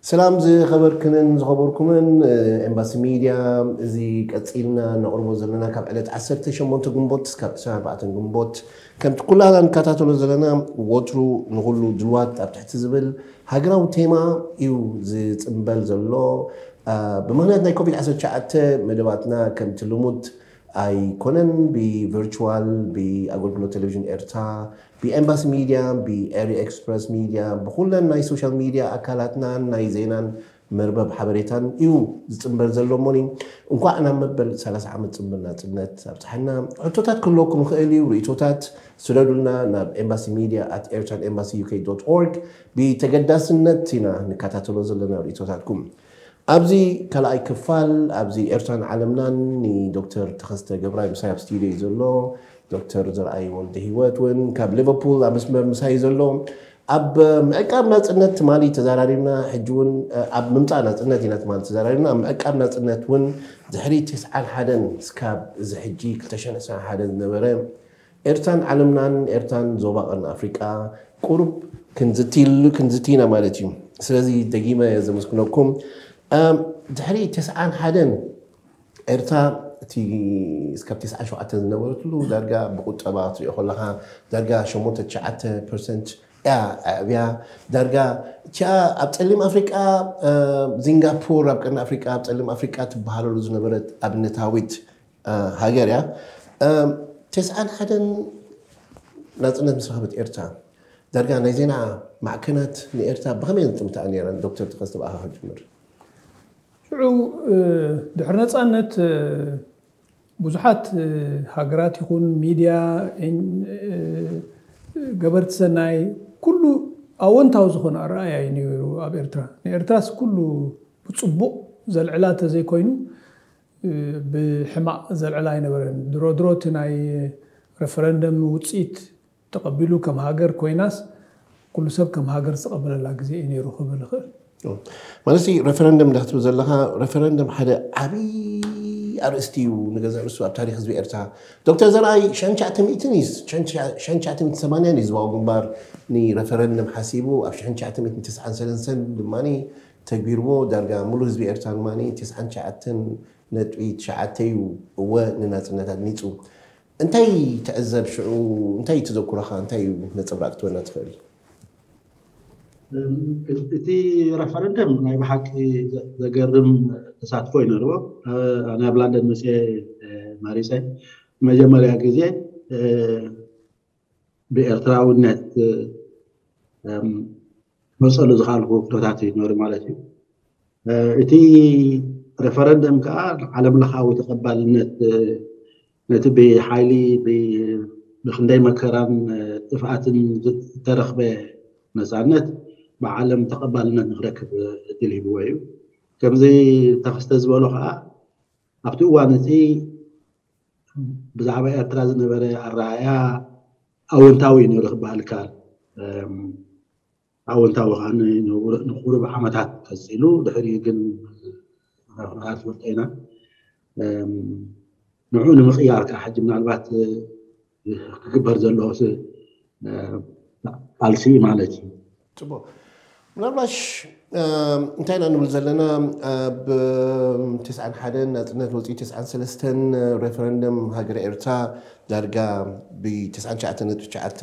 ሰላም ዝኸበርክንን ዝኸበርኩምን ኤምባሲ ሚድያ። እዚ ቀፂልና ነቕርቦ ዘለና ካብ ዕለት ዓሰርተ ሸሞንተ ግንቦት እስካብ ዕስራን ኣርባዕተን ግንቦት፣ ከምቲ ኩላና ንከታተሎ ዘለና፣ ወትሩ ንኹሉ ድልዋት ኣብ ትሕቲ ዝብል ሃገራዊ ቴማ እዩ ዝፅምበል ዘሎ። ብምክንያት ናይ ኮቪድ ዓሰርተ ትሽዓተ መደባትና ከምቲ ልሙድ ኣይኮነን። ብቨርቹዋል፣ ብኣገልግሎት ቴሌቪዥን ኤርትራ፣ ብኤምባሲ ሚድያ፣ ብኤሪ ኤክስፕረስ ሚድያ፣ ብኩለን ናይ ሶሻል ሚድያ ኣካላትናን ናይ ዜናን መርበብ ሓበሬታን እዩ ዝፅምበር ዘሎ። እሞኒ፣ እንኳዕ ናብ መበል ሰላሳ ዓመት ፅምብል ናፅነት ኣብፅሓና። ሕቶታት ክህልወኩም ይኽእል እዩ። ርእቶታት ስደዱልና ናብ ኤምባሲ ሚድያ ኣት ኤርትራን ኤምባሲ ዩ ኬ ዶት ኦርግ። ብተገዳስነት ኢና ንከታተሎ ዘለና ርእቶታትኩም። ኣብዚ ካልኣይ ክፋል፣ ኣብዚ ኤርትራን ዓለምናን፣ ንዶክተር ተኸስተ ገብራይ ምሳይ ኣብ ስቱዲዮ እዩ ዘሎ። ዶክተር ዘርኣይ ወልደ ህይወት እውን ካብ ሊቨርፑል ኣብ መስመር ምሳይ እዩ ዘሎ። ኣብ ምዕቃብ ናጽነት ትማሊ ተዛራሪብና፣ ሕጂ እውን ኣብ ምምጻእ ናጽነት ኢና ትማሊ ተዛራሪብና። ኣብ ምዕቃብ ናጽነት እውን ድሕሪ ተስዓን ሓደን እስካብ እዚ ሕጂ ክልተ ሽሕን ዕስራን ሓደን ዝነበረ ኤርትራን ዓለምናን፣ ኤርትራን ዞባ ቀርኒ ኣፍሪቃ ቁሩብ ክንዝትይሉ፣ ክንዝትይና ማለት እዩ። ስለዚ ደጊመ እየ ዘመስግነኩም። ኣም፣ ድሕሪ ተስዓን ሓደን ኤርትራ፣ እቲ እስካብ ተስዓን ሸውዓተን ዝነበረትሉ ዳርጋ ብቁጠባ ክትሪኦ ከለኻ ዳርጋ ሸሞንተ ትሽዓተ ፐርሰንት እያ ኣዕብያ። ዳርጋ እቲኣ ኣብ ጸሊም ኣፍሪቃ፣ እ፣ ዚንጋፖር ኣብ ቀርኒ ኣፍሪቃ፣ ኣብ ጸሊም ኣፍሪቃ ትበሃለሉ ዝነበረት ኣብነታዊት፣ እ፣ ሃገር እያ። እ፣ ተስዓን ሓደን ናጽነት ምስ ረኸበት ኤርትራ፣ ዳርጋ ናይ ዜና ማዕከናት ንኤርትራ ብኸመይ ዝጥምታኣ ነይረን? ዶክተር ተኸስተ፣ ብኣኻ ክጅምር። ሽዑ፣ እ፣ ድሕሪ ነጻነት፣ እ፣ ብዙሓት፣ እ፣ ሃገራት ይኹን ሚድያ፣ ኤን-፣ እ፣ ገበርቲ ሰናይ፣ ኩሉ ኣወንታዊ ዝኾነ ኣረኣእያ እዩ ነይሩ ኣብ ኤርትራ። ንኤርትራስ ኩሉ ብጽቡቕ ዘልዕላ ተዘይኮይኑ፣ እ፣ ብሕማቕ ዘልዕላ ኣይነበረን። ድሮ ድሮ እቲ ናይ ረፈረንደም ውጽኢት ተቐቢሉ ከም ሃገር ኮይናስ፣ ኩሉ ሰብ ከም ሃገር ዝተቐበለላ ግዜ እዩ ነይሩ ክብል እኽእል። ኦ፣ ማለት፣ ረፈረንደም እንዳ ክትብል ዘለኻ፣ ረፈረንደም ሓደ ዓብዪ ኣርእስቲ እዩ፣ ንገዛእ ርእሱ ኣብ ታሪኽ ህዝቢ ኤርትራ። ዶክተር ዘርኣይ ሽሕን ትሽዓተ ሚእትን እዩ፣ ሽሕን ትሽዓተ ሚእትን ሰማንያን እዩ ህዝባዊ ግንባር ንረፈረንደም ሓሲቡ፣ ኣብ ሽሕን ትሽዓተ ሚእትን ተስዓን ሰለስተን ድማ ተግቢርዎ። ዳርጋ ሙሉእ ህዝቢ ኤርትራ ድማ ተስዓን ትሽዓተን ነጥቢ ትሽዓተ እዩ እወ ንናጽነት ኣድሚጹ። እንታይ ትዕዘብ ሽዑ? እንታይ ተዘክሮኻ? እንታይ እዩ ነጸብራቕ ክትበና ትኽእል? እም፣ እቲ ረፈረንደም ናይ ብሓቂ ዘ-፣ ዘገርም ተሳትፎ እዩ ነይርዎ። እ፣ ኣነ ኣብ ላንደን መጽየ፣ እ፣ መሪጸ። መጀመርያ ግዜ፣ እ፣ ብኤርትራውነት፣ እ፣ እም፣ ክመርጸሉ ዝኸኣልኩ ኩነታት እዩ ነይሩ ማለት እዩ። እ፣ እቲ ረፈረንደም ከኣ ዓለም ለኻዊ ተቐባልነት፣ እ፣ ነቲ ብሓይሊ ብ-፣ ብኽንደይ መከራን፣ እ፣ ጥፍኣትን ዝተረኽበ ነጻነት ብዓለም ተቐባልነት ንኽረክብ እድል ሂብዎ እዩ። ከምዚ ተኸስተ ዝበሎ ከኣ ኣብቲ እዋን እቲ ብዛዕባ ኤርትራ ዝነበረ ኣረኣእያ ኣወንታዊ እዩ ነይሩ ክበሃል ይከኣል። እም፣ ኣወንታዊ ከኣ ን-፣ ንቁሩብ ዓመታት ቀጺሉ፣ ድሕሪኡ ግን፣ እ፣ ትፈልጦ ኢና። እም፣ ንዕኡ ንምቕያር ከኣ ሕጂ ምናልባት፣ እ፣ ክግበር ዘሎ ስ-፣ እ፣ ቃልሲ ማለት እዩ። ጽቡቕ። ምናልባሽ፣ እም፣ እንታይ ኢና ንብል ዘለና? ኣብ፣ እም፣ ተስዓን ሓደን ናጽነት ወጺኡ፣ ተስዓን ሰለስተን ረፈረንደም ሃገረ ኤርትራ ዳርጋ ብ-፣ ተስዓን ትሽዓተ ነጥቢ ትሽዓተ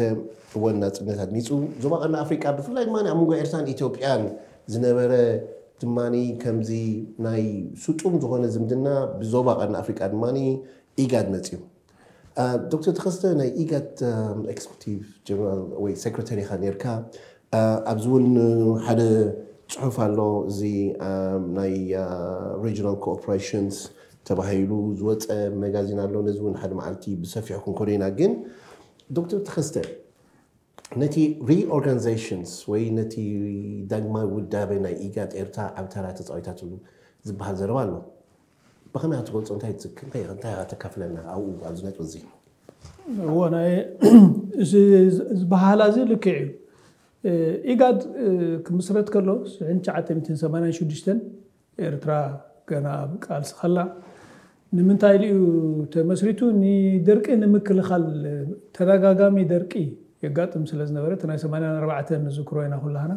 እወን ናጽነት ኣድሚጹ። ዞባ ቀርኒ ኣፍሪቃ፣ ብፍላይ ድማ ኣብ መንጎ ኤርትራን ኢትዮጵያን ዝነበረ ድማ ከምዚ ናይ ስጡም ዝኾነ ዝምድና ብዞባ ቀርኒ ኣፍሪቃ ድማ ኢጋድ መጺኡ። እ፣ ዶክተር ተኸስተ፣ ናይ ኢጋድ፣ እ፣ ኤክስኪዩቲቭ ጀነራል ወይ ሴክሬታሪ ኢኻ ነርካ። እ፣ ኣብዚ እውን ሓደ ጽሑፍ ኣሎ፣ እዚ፣ እ፣ ናይ፣ እ፣ ሪጅናል ኮኦፕሬሽንስ ተባሂሉ ዝወጸ መጋዚን ኣሎ። ነዚ እውን ሓደ መዓልቲ ብሰፊሑ ክንኮዶ ኢና። ግን ዶክተር ተኸስተ፣ ነቲ ሪኦርጋናይዜሽንስ ወይ ነቲ ዳግማዊ ውዳበ ናይ ኢጋድ ኤርትራ ዓቢ ተራ ተጻዊታትሉ ዝበሃል ዘረባ ኣሎ። ብኸመይ ትገልጾ? እንታይ ትዝክር? እንታይ፣ እንታይ ተካፍለና ኣብኡ፣ ኣብዚ ነጥቢ እዚ? እዎ፣ ናይ፣ እዚ ዝበሃላ እዚ ልክዕ እዩ። እ፣ ኢጋድ፣ እ፣ ክምስረት ከሎ ሽሕን ትሽዓተ ሚእትን ሰማንያን ሽዱሽተን ኤርትራ ገና ኣብ ቃልሲ ከላ፣ ንምንታይ ኢሉ እዩ ተመስሪቱ? ንደርቂ ንምክልኻል። ተደጋጋሚ ደርቂ የጋጥም ስለ ዝነበረ፣ እቲ ናይ ሰማንያን ኣርባዕተን ንዝክሮ ኢና ኩላህና።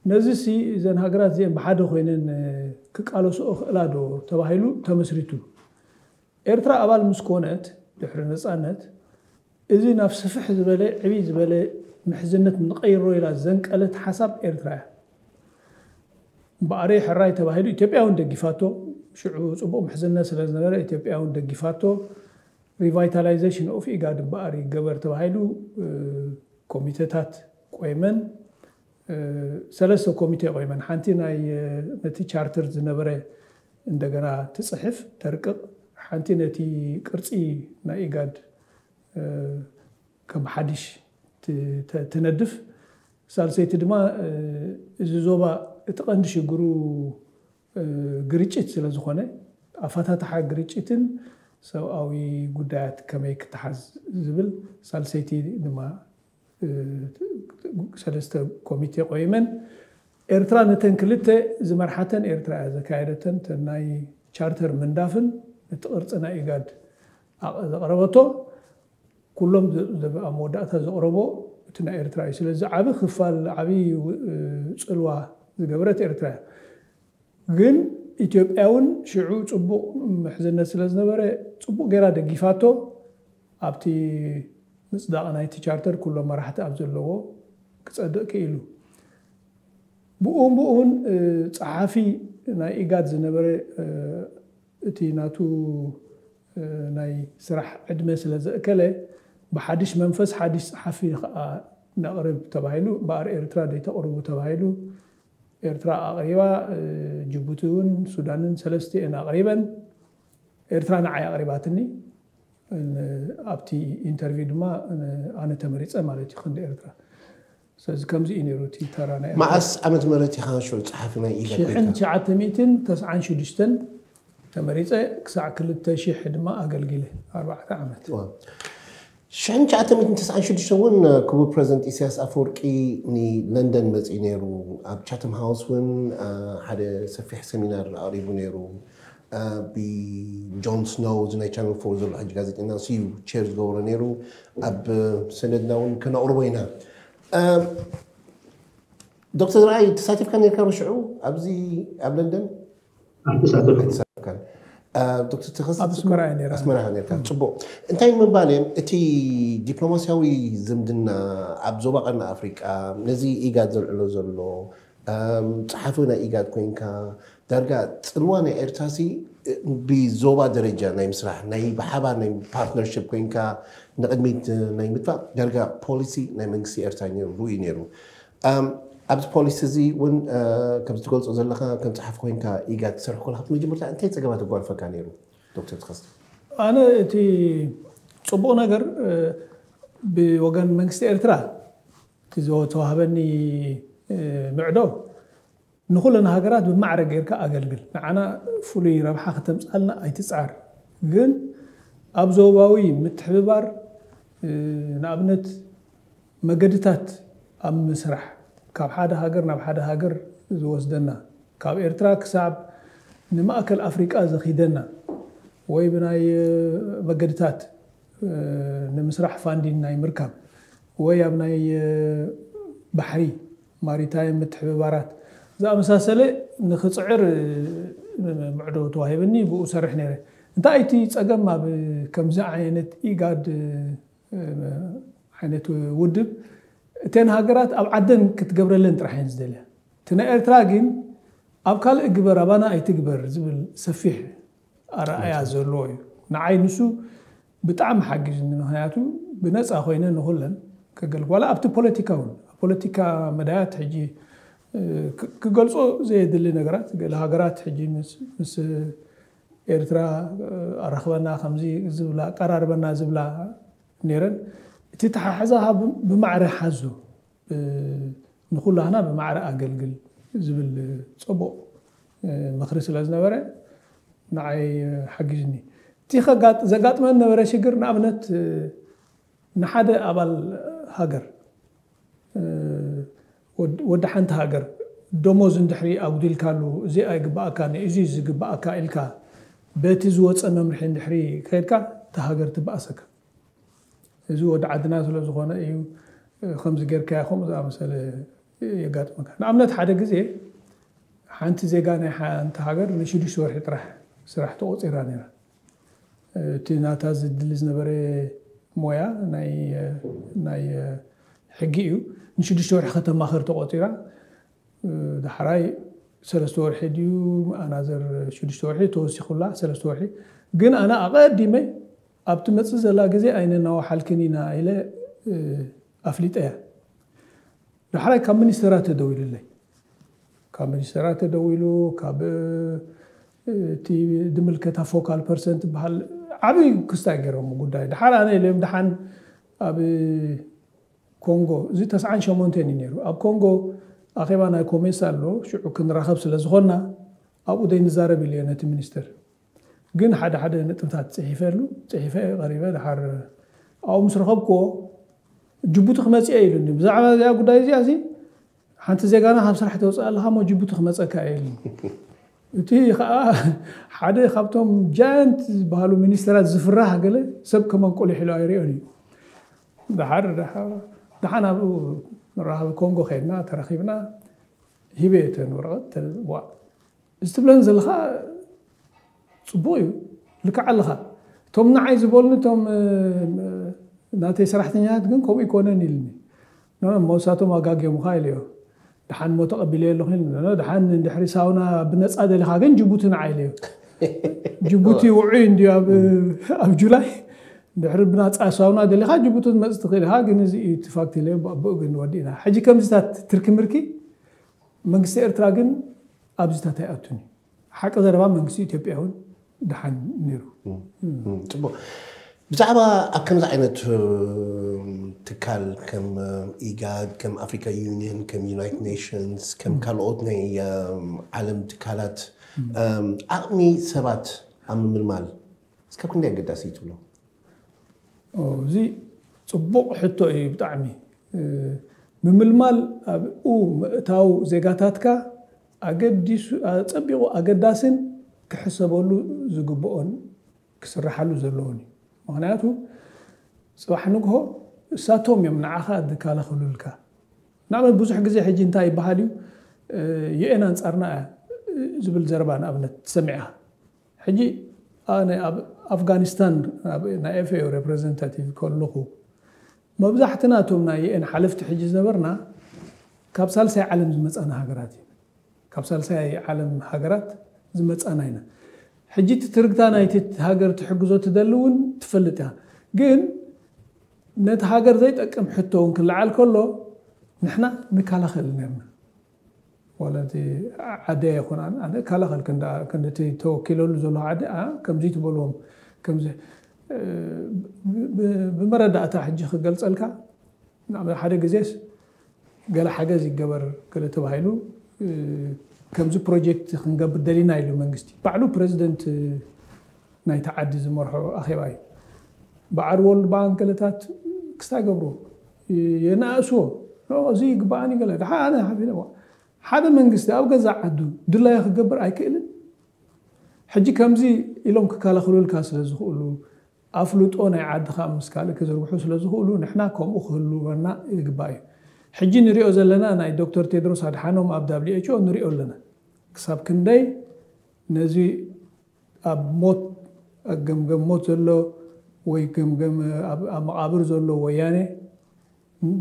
ነዚ ሲ እዘን ሃገራት እዚአን ብሓደ ኮይነን ክቃለስኦ ክእላ ዶ ተባሂሉ ተመስሪቱ። ኤርትራ ኣባል ምስ ኮነት ድሕሪ ነፃነት እዚ ናብ ስፍሕ ዝበለ ዕብይ ዝበለ ምሕዝነት ንቐይሮ ኢላ ዘንቀለት ሓሳብ ኤርትራ እያ። እምበኣር ሕራይ ተባሂሉ ኢትዮጵያ እውን ደጊፋቶ። ሽዑ ፅቡቕ ምሕዝነት ስለ ዝነበረ ኢትዮጵያ እውን ደጊፋቶ። Revitalization of ኢጋድ እምበኣር ይገበር ተባሂሉ ኮሚቴታት ቆይመን ሰለስተ ኮሚቴ ቆይመን፣ ሓንቲ ናይ ነቲ ቻርተር ዝነበረ እንደገና ትፅሕፍ ተርቅቕ፣ ሓንቲ ነቲ ቅርፂ ናይ ኢጋድ ከም ሓድሽ ትነድፍ፣ ሳልሰይቲ ድማ እዚ ዞባ እቲ ቀንዲ ሽግሩ ግርጭት ስለ ዝኾነ ኣፈታትሓ ግርጭትን ሰብኣዊ ጉዳያት ከመይ ክተሓዝ ዝብል ሳልሰይቲ ድማ ሰለስተ ኮሚቴ ቆይመን ኤርትራ ነተን ክልተ ዝመርሓተን ኤርትራ እያ ዘካየደተን። እተን ናይ ቻርተር ምንዳፍን እቲ ቅርፂ ናይ ኢጋድ ዘቕረበቶ ኩሎም ኣብ መወዳእታ ዘቕረቦ እቲ ናይ ኤርትራ እዩ። ስለዚ ዓቢ ክፋል ዓቢ ፅልዋ ዝገበረት ኤርትራ እያ። ግን ኢትዮጵያ እውን ሽዑ ፅቡቕ ምሕዝነት ስለ ዝነበረ ፅቡቕ ገይራ ደጊፋቶ ኣብቲ ምፅዳቕ ናይቲ ቻርተር ኩሎም መራሕቲ ኣብ ዘለዎ ክፀድቕ ክኢሉ። ብኡን ብኡን ፀሓፊ ናይ ኢጋድ ዝነበረ እቲ ናቱ ናይ ስራሕ ዕድመ ስለ ዘእከለ ብሓድሽ መንፈስ ሓድሽ ፀሓፊ ከዓ ነቕርብ ተባሂሉ። እምበኣር ኤርትራ ደይተቕርቡ ተባሂሉ። ኤርትራ ኣቕሪባ፣ ጅቡቲ እውን ሱዳንን ሰለስቲኤን ኣቕሪበን። ኤርትራ ንዓይ ኣቕሪባትኒ። ኣብቲ ኢንተርቪው ድማ ኣነ ተመሪፀ ማለት እዩ ክንዲ ኤርትራ። ስለዚ ከምዚ እዩ ነይሩ እቲ ተራ ናይ ኤርትራ። መዓስ ዓመት ምህረት ኢኻ ሽዑ ጸሓፊ ናይ ኢጋድ ኮይንካ? ሽሕን ትሽዓተ ሚእትን ተስዓን ሽዱሽተን ተመሪጸ ክሳዕ ክልተ ሽሕ ድማ ኣገልጊለ፣ ኣርባዕተ ዓመት። ሽሕን ትሽዓተ ሚእትን ተስዓን ሽዱሽተን እውን ክቡር ፕረዚደንት ኢሳያስ ኣፈወርቂ ንለንደን መጺኡ ነይሩ። ኣብ ቻተም ሃውስ እውን ሓደ ሰፊሕ ሰሚናር ኣቕሪቡ ነይሩ። ብጆን ስኖው እዚ ናይ ቻነል ፎር ዘሎ ሕጂ ጋዜጠኛ ንሱ እዩ ቸር ዝገብሮ ነይሩ። ኣብ ሰነድና እውን ከነቕርቦ ኢና። ዶክተር ዘርኣይ ተሳቲፍካ ነርካ ብሽዑ ኣብዚ ኣብ ለንደን? ኣይተሳተፍኩ። ኣይተሳተፍካን። ዶክተር ተኸስተ ኣብ ኣስመራ እየ ነይረ። ኣስመራ ኢኻ ነርካ። ጽቡቕ። እንታይ ምባል እየ፣ እቲ ዲፕሎማስያዊ ዝምድና ኣብ ዞባ ቀርኒ ኣፍሪቃ ነዚ ኢጋድ ዘልዕሎ ዘሎ ጸሓፊ ናይ ኢጋድ ኮይንካ ዳርጋ ጽልዋ ናይ ኤርትራሲ ብዞባ ደረጃ ናይ ምስራሕ ናይ ብሓባር ናይ ፓርትነርሽፕ ኮይንካ ንቕድሚት ናይ ምጥፋእ ዳርጋ ፖሊሲ ናይ መንግስቲ ኤርትራ ነይሩ ርኡይ ነይሩ። ኣብዚ ፖሊሲ እዚ እውን ከም ዝትገልጾ ዘለኻ ከም ጸሓፊ ኮይንካ ኢጋድ ትሰርሕ ከለኻ ብመጀመርታ እንታይ ጸገማት ኣጓንፈካ ነይሩ ዶክተር ተኸስተ? ኣነ እቲ ጽቡቕ ነገር ብወገን መንግስቲ ኤርትራ እቲ ዝተዋህበኒ ምዕዶ ንኹለን ሃገራት ብማዕረ ጌርካ ኣገልግል፣ ንዓና ፍሉይ ረብሓ ከተምጻልና ኣይትጽዓር። ግን ኣብ ዞባዊ ምትሕብባር ንኣብነት መገድታት ኣብ ምስራሕ ካብ ሓደ ሃገር ናብ ሓደ ሃገር ዝወስደና ካብ ኤርትራ ክሳብ ንማእከል ኣፍሪቃ ዘኺደና ወይ ብናይ መገድታት ንምስራሕ ፋንዲን ናይ ምርካብ ወይ ኣብ ናይ ባሕሪ ማሪታይም ምትሕብባራት ዝኣመሳሰለ ንኽፅዕር ምዕዶ ተዋሂብኒ ብኡ ሰርሕ ነይረ። እንታይ እቲ ፀገም ኣብ ከምዚ ዓይነት ኢጋድ ዓይነት ውድብ እተን ሃገራት ኣብ ዓደን ክትገብረለን ጥራሕ እየን ዝደልያ። እቲ ናይ ኤርትራ ግን ኣብ ካልእ ግበር ኣባና ኣይትግበር ዝብል ሰፊሕ ኣረኣያ ዘለዎ እዩ። ንዓይ ንሱ ብጣዕሚ ሓጊዙኒ። ምክንያቱ ብነፃ ኮይነ ንኩለን ከገልግ ዋላ ኣብቲ ፖለቲካ እውን ኣብ ፖለቲካ መዳያት ሕጂ ክገልፆ ዘየድሊ ነገራት ገለ ሃገራት ሕጂ ምስ ኤርትራ ኣራኽበና ከምዚ ዝብላ ኣቀራርበና ዝብላ ነይረን። እቲ ተሓሕዛ ብማዕረ ሓዞ ንኩላህና ብማዕረ ኣገልግል ዝብል ፅቡቕ ምኽሪ ስለ ዝነበረ ንዓይ ሓጊዝኒ። እቲ ዘጋጥመን ነበረ ሽግር ንኣብነት ንሓደ ኣባል ሃገር ወዲ ሓንቲ ሃገር ደሞዝ እንድሕሪ ኣጉዲልካሉ እዚ ኣይግባኣካ ንእዚ ዝግባኣካ ኢልካ በቲ ዝወፀ መምርሒ እንድሕሪ ከድካ እታ ሃገር ትበኣሰካ። እዚ ወዲ ዓድና ስለ ዝኾነ እዩ ከምዚ ጌርካዮ ከምኡ ዝኣመሰለ የጋጥመካ። ንኣብነት ሓደ ግዜ ሓንቲ ዜጋ ናይ ሓንቲ ሃገር ንሽዱሽተ ወርሒ ጥራሕ ስራሕ ተቖፂራ ነይራ። እቲ ናታ ዝድሊ ዝነበረ ሞያ ናይ ናይ ሕጊ እዩ። ንሽዱሽተ ወርሒ ከተማኸር ተቖፂራ። ዳሕራይ ሰለስተ ወርሒ ድዩ ኣናዘር ሽዱሽተ ወርሒ ተወሲኹላ ሰለስተ ወርሒ። ግን ኣነ ኣቐዲመ ኣብቲ መፅእ ዘላ ግዜ ኣይነናዋሓልክን ኢና ኢለ ኣፍሊጠያ። ዳሕራይ ካብ ሚኒስተራ ተደዊሉለይ። ካብ ሚኒስተራ ተደዊሉ ካብ እቲ ድምልከታ ፎካል ፐርሰንት በሃል ዓብይ ክስታይ ገይሮም ጉዳይ። ድሓር ኣነ ኢሎም ድሓን ኣብ ኮንጎ፣ እዚ ተስዓን ሸሞንተን እዩ ነይሩ። ኣብ ኮንጎ ኣኼባ ናይ ኮሜሳ ኣሎ፣ ሽዑ ክንራኸብ ስለ ዝኾንና ኣብኡ ዘይንዛረብ ኢሉ ነቲ ሚኒስትር። ግን ሓደ ሓደ ነጥብታት ጽሒፈሉ፣ ጽሒፈ ቀሪበ ድሓር ኣብኡ ምስ ረኸብክዎ ጅቡቲ ክመጽእ እየ ኢሉኒ። ብዛዕባ እዚኣ ጉዳይ እዚኣ እዚ ሓንቲ ዜጋና ካብ ስራሕ ተውፅእ ኣለኻ እሞ ጅቡቲ ክመፀካ እየ ኢሉኒ። እቲ ከዓ ሓደ ካብቶም ጃያንት ዝበሃሉ ሚኒስተራት ዝፍራሕ ገለ ሰብ ከመንቆሊሕ ኢሉ ኣይሪኦን እዩ። ድሓር ድሓር- ድሓን ኣብኡ መራኸቢ ኮንጎ ከይድና ተራኺብና ሂበ እተን ወረቐት ተልዋ እዚ ትብለን ዘለኻ ፅቡቕ እዩ፣ ልክዕ ኣለኻ። እቶም ንዓይ ዝበሉኒ እቶም ናተይ ሰራሕተኛታት ግን ከምኡ ይኮነን ኢልኒ። መውሳቶም ኣጋግዮምኻ ኢለዮ። ድሓን ሞ ተቐቢለ ኣለኹ ኢልኒ። ድሓን እንድሕሪ ሳውና ብነፃ ደሊኻ ግን ጅቡቲ ንዓይ ኢለዮ። ጅቡቲ ውዑይ እንዲ ኣብ ጁላይ ድሕሪ ብናፃ ሳውና ደሊኻ ጅቡቲ መፅ ትኽእል ኢኻ። ግን እዚ እዩ እቲ ፋክት ኢለዮ። ብኡ ግን ወዲእና ሕጂ ከምዚታት ትርኪ ምርኪ መንግስቲ ኤርትራ ግን ኣብዚታት ኣይኣቱን እዩ። ሓቂ ዘረባ መንግስቲ ኢትዮጵያ እውን ድሓን ነይሩ። ፅቡቅ። ብዛዕባ ኣብ ከምዚ ዓይነት ትካል ከም ኢጋድ፣ ከም ኣፍሪካ ዩኒየን፣ ከም ዩናይትድ ኔሽንስ፣ ከም ካልኦት ናይ ዓለም ትካላት ዓቕሚ ሰባት ኣብ ምምልማል እስካብ ክንደይ ኣገዳሲ እዩ ትብሎ? እዚ ፅቡቕ ሕቶ እዩ ብጣዕሚ። ምምልማል ኣብኡ ምእታው ዜጋታትካ ኣገዲሱ ኣፀቢቑ ኣገዳስን ክሕሰበሉ ዝግብኦን ክስርሓሉ ዘለዎን እዩ። ምክንያቱ ፅባሕ ንግሆ እሳቶም እዮም ንዓኻ ዝከላኸሉልካ። ንኣብነት ብዙሕ ግዜ ሕጂ እንታይ ይበሃል እዩ ዩኤን ኣንፃርና እያ ዝብል ዘረባ ንኣብነት ትሰሚዕኻ። ሕጂ ኣነ ኣብ ኣፍጋኒስታን ናይ ኤፍኤኦ ሬፕሬዘንታቲቭ ከለኹ መብዛሕትና እቶም ናይ ዩኤን ሓለፍቲ ሕጂ ዝነበርና ካብ ሳልሳይ ዓለም ዝመፃና ሃገራት እዩ። ካብ ሳልሳይ ዓለም ሃገራት ዝመፃና ኢና። ሕጂ እቲ ትርግታ ናይቲ ሃገር ትሕግዞ ትደሊ እውን ትፈልጥ እያ። ግን ነቲ ሃገር ዘይጠቅም ሕቶ እውን ክለዓል ከሎ ንሕና ንከላኸል ነርና። ዋላ እቲ ዓዲ ኣይኮን ኣነ እከላኸል ክንዲ እቲ ተወኪለሉ ዘሎ ዓዲ ከምዚ ትበልዎም ከምዚ ብመረዳእታ ሕጂ ክገልፀልካ ሓደ ግዜስ ገለ ሓገዝ ይገበር ገለ ተባሂሉ ከምዚ ፕሮጀክት ክንገብር ደሊና ኢሉ መንግስቲ ባዕሉ ፕሬዚደንት ናይቲ ዓዲ ዝመርሖ ኣኼባ እዩ። በዓል ወርልድ ባንክ ገለታት ክስታይ ገብርዎ የናእስዎ እዚ ይግባኣኒ ገለ ድሓ ኣነ ሓቢለ ሓደ መንግስቲ ኣብ ገዛ ዓዱ ድላዩ ክገብር ኣይክእልን። ሕጂ ከምዚ ኢሎም ክከላኸሉልካ ስለ ዝኽእሉ ኣፍልጦ ናይ ዓድኻ ምስ ካልእ ክዝርግሑ ስለ ዝኽእሉ ንሕና ከምኡ ክህልወና ይግባእ እዩ። ሕጂ ንሪኦ ዘለና ናይ ዶክተር ቴድሮስ ኣድሓኖም ኣብ ዳብሊው ኤች ኦ ንሪኦ ኣለና። ክሳብ ክንደይ ነዚ ኣብ ሞት ኣብ ገምገም ሞት ዘሎ ወይ ገምገም ኣብ መቓብር ዘሎ ወያነ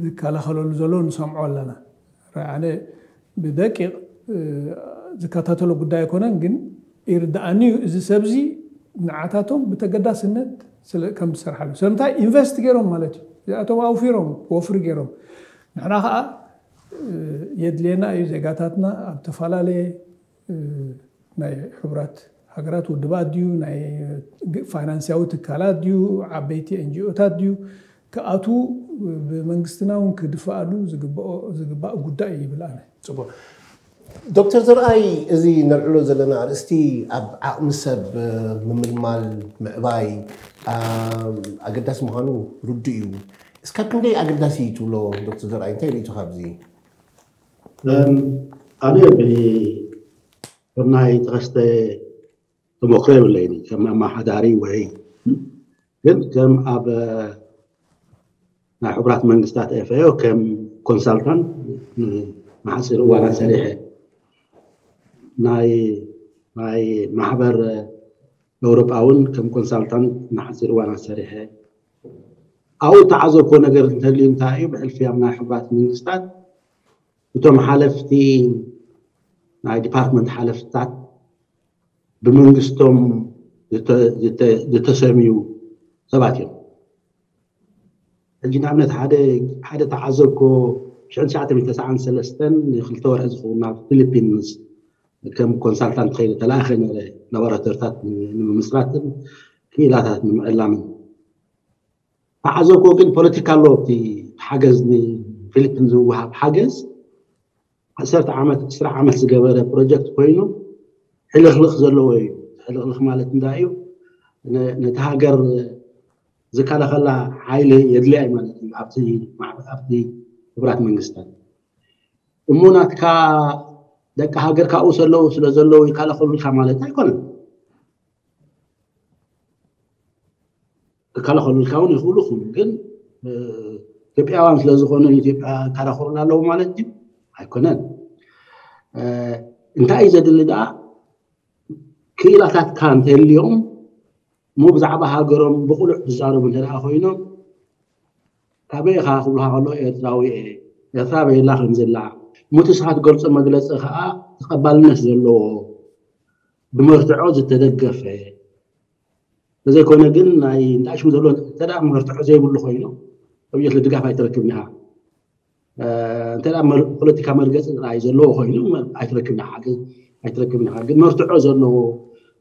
ዝከላኸለሉ ዘሎ ንሰምዖ ኣለና። ኣነ ብደቂቕ ዝከታተሎ ጉዳይ ኣይኮነን፣ ግን ይርድኣኒ እዩ እዚ ሰብዚ ንዓታቶም ብተገዳስነት ከም ዝሰርሓሉ። ስለምንታይ ኢንቨስት ገይሮም ማለት እዩ። እዚኣቶም ኣውፊሮም ወፍሪ ገይሮም። ንሕና ከዓ የድልየና እዩ ዜጋታትና ኣብ ተፈላለየ ናይ ሕቡራት ሃገራት ውድባት ድዩ ናይ ፋይናንስያዊ ትካላት ድዩ ዓበይቲ ኤንጂኦታት ድዩ ክኣትዉ ብመንግስትና እውን ክድፍኣሉ ዝግባእ ጉዳይ እዩ ይብል ኣነ። ፅቡቅ። ዶክተር ዘርኣይ፣ እዚ ነልዕሎ ዘለና ኣርእስቲ ኣብ ዓቕሚ ሰብ ምምልማል ምዕባይ ኣገዳሲ ምዃኑ ርዱእ እዩ። እስካብ ክንደይ ኣገዳሲ እዩ ትብሎ ዶክተር ዘርኣይ? እንታይ ርእይቶ ካብዚ? ኣነ ከም ናይ ተኸስተ ተሞክሮ የብለይን ከም ኣመሓዳሪ ወይ ግን ከም ኣብ ናይ ሕቡራት መንግስታት ኤፍኤኦ ከም ኮንሳልታንት ንሓፂር እዋናት ሰሪሐ፣ ናይ ናይ ማሕበር ኤውሮጳ እውን ከም ኮንሳልታንት ንሓፂር እዋናት ሰሪሐ። ኣብኡ እተዓዘብኩዎ ነገር እንተልዩ እንታይ እዩ? ብሕልፊ ኣብ ናይ ሕቡራት መንግስታት እቶም ሓለፍቲ፣ ናይ ዲፓርትመንት ሓለፍትታት ብመንግስቶም ዝተ- ዝተ- ዝተሰምዩ ሰባት እዮም። ሕጂ ንኣብነት ሓደ ሓደ ተዓዘብኮ ሽሕን ትሽዓተ ሚእትን ተስዓን ሰለስተን ንክልተ ወርሒ ዝኸውን ናብ ፊሊፒንስ ከም ኮንሳልታንት ከይደ ተላእኸ ነረ፣ ላቦራቶሪታት ንምምስራትን ክኢላታት ንምዕላምን። ተዓዘብኮ ግን ፖለቲካ ኣሎ። እቲ ሓገዝ ንፊሊፒን ዝወሃብ ሓገዝ ዓሰርተ ዓመት፣ ዕስራ ዓመት ዝገበረ ፕሮጀክት ኮይኑ ሕልኽልኽ ዘለዎ እዩ። ሕልኽልኽ ማለት እንታይ እዩ? ነ- ነቲ ሃገር ዝከላኸላ ሓይሊ የድልያ እዩ ማለት እዩ። ኣብቲ ማዕ- ኣብቲ ሕቡራት መንግስታት እሞ ናትካ ደቂ ሃገር ካብኡ ዘለዉ ስለ ዘለዉ ይከላኸሉልካ ማለት ኣይኮነን። ክከላኸሉልካ እውን ይኽእሉ ይኹኑ፣ ግን ኢትዮጵያውያን ስለ ዝኾኑ ኢትዮጵያ ይከላኸሉና ኣለዉ ማለት እዩ ኣይኮነን። እንታይ እዩ ዘድሊ ደኣ? ክኢላታትካ እንተልዮም እሞ ብዛዕባ ሃገሮም ብቕሉዕ ዝዛረቡ እንተ ደኣ ኮይኖም፣ ካበይ ኢኻ ክብሉኻ ከሎ ኤርትራዊ እየ፣ ኤርትራ በየላ ከም ዘላ ሙቲ ስኻ ትገልጾ መግለጺ ከዓ ተቐባልነት ዘለዎ ብመርትዖ ዝተደገፈ ተዘይኮነ ግን ናይ እንታይ ሽሙ ዘሎ እንተ ደኣ መርትዖ ዘይብሉ ኮይኑ ኣብየት ድጋፍ ኣይትረክብን ኢኻ። እንተ ደኣ መር- ፖለቲካ መርገፂ ጥራይ ዘለዎ ኮይኑ ኣይትረክብን ኢኻ። ግን ኣይትረክብን ኢኻ። ግን መርትዖ ዘለዎ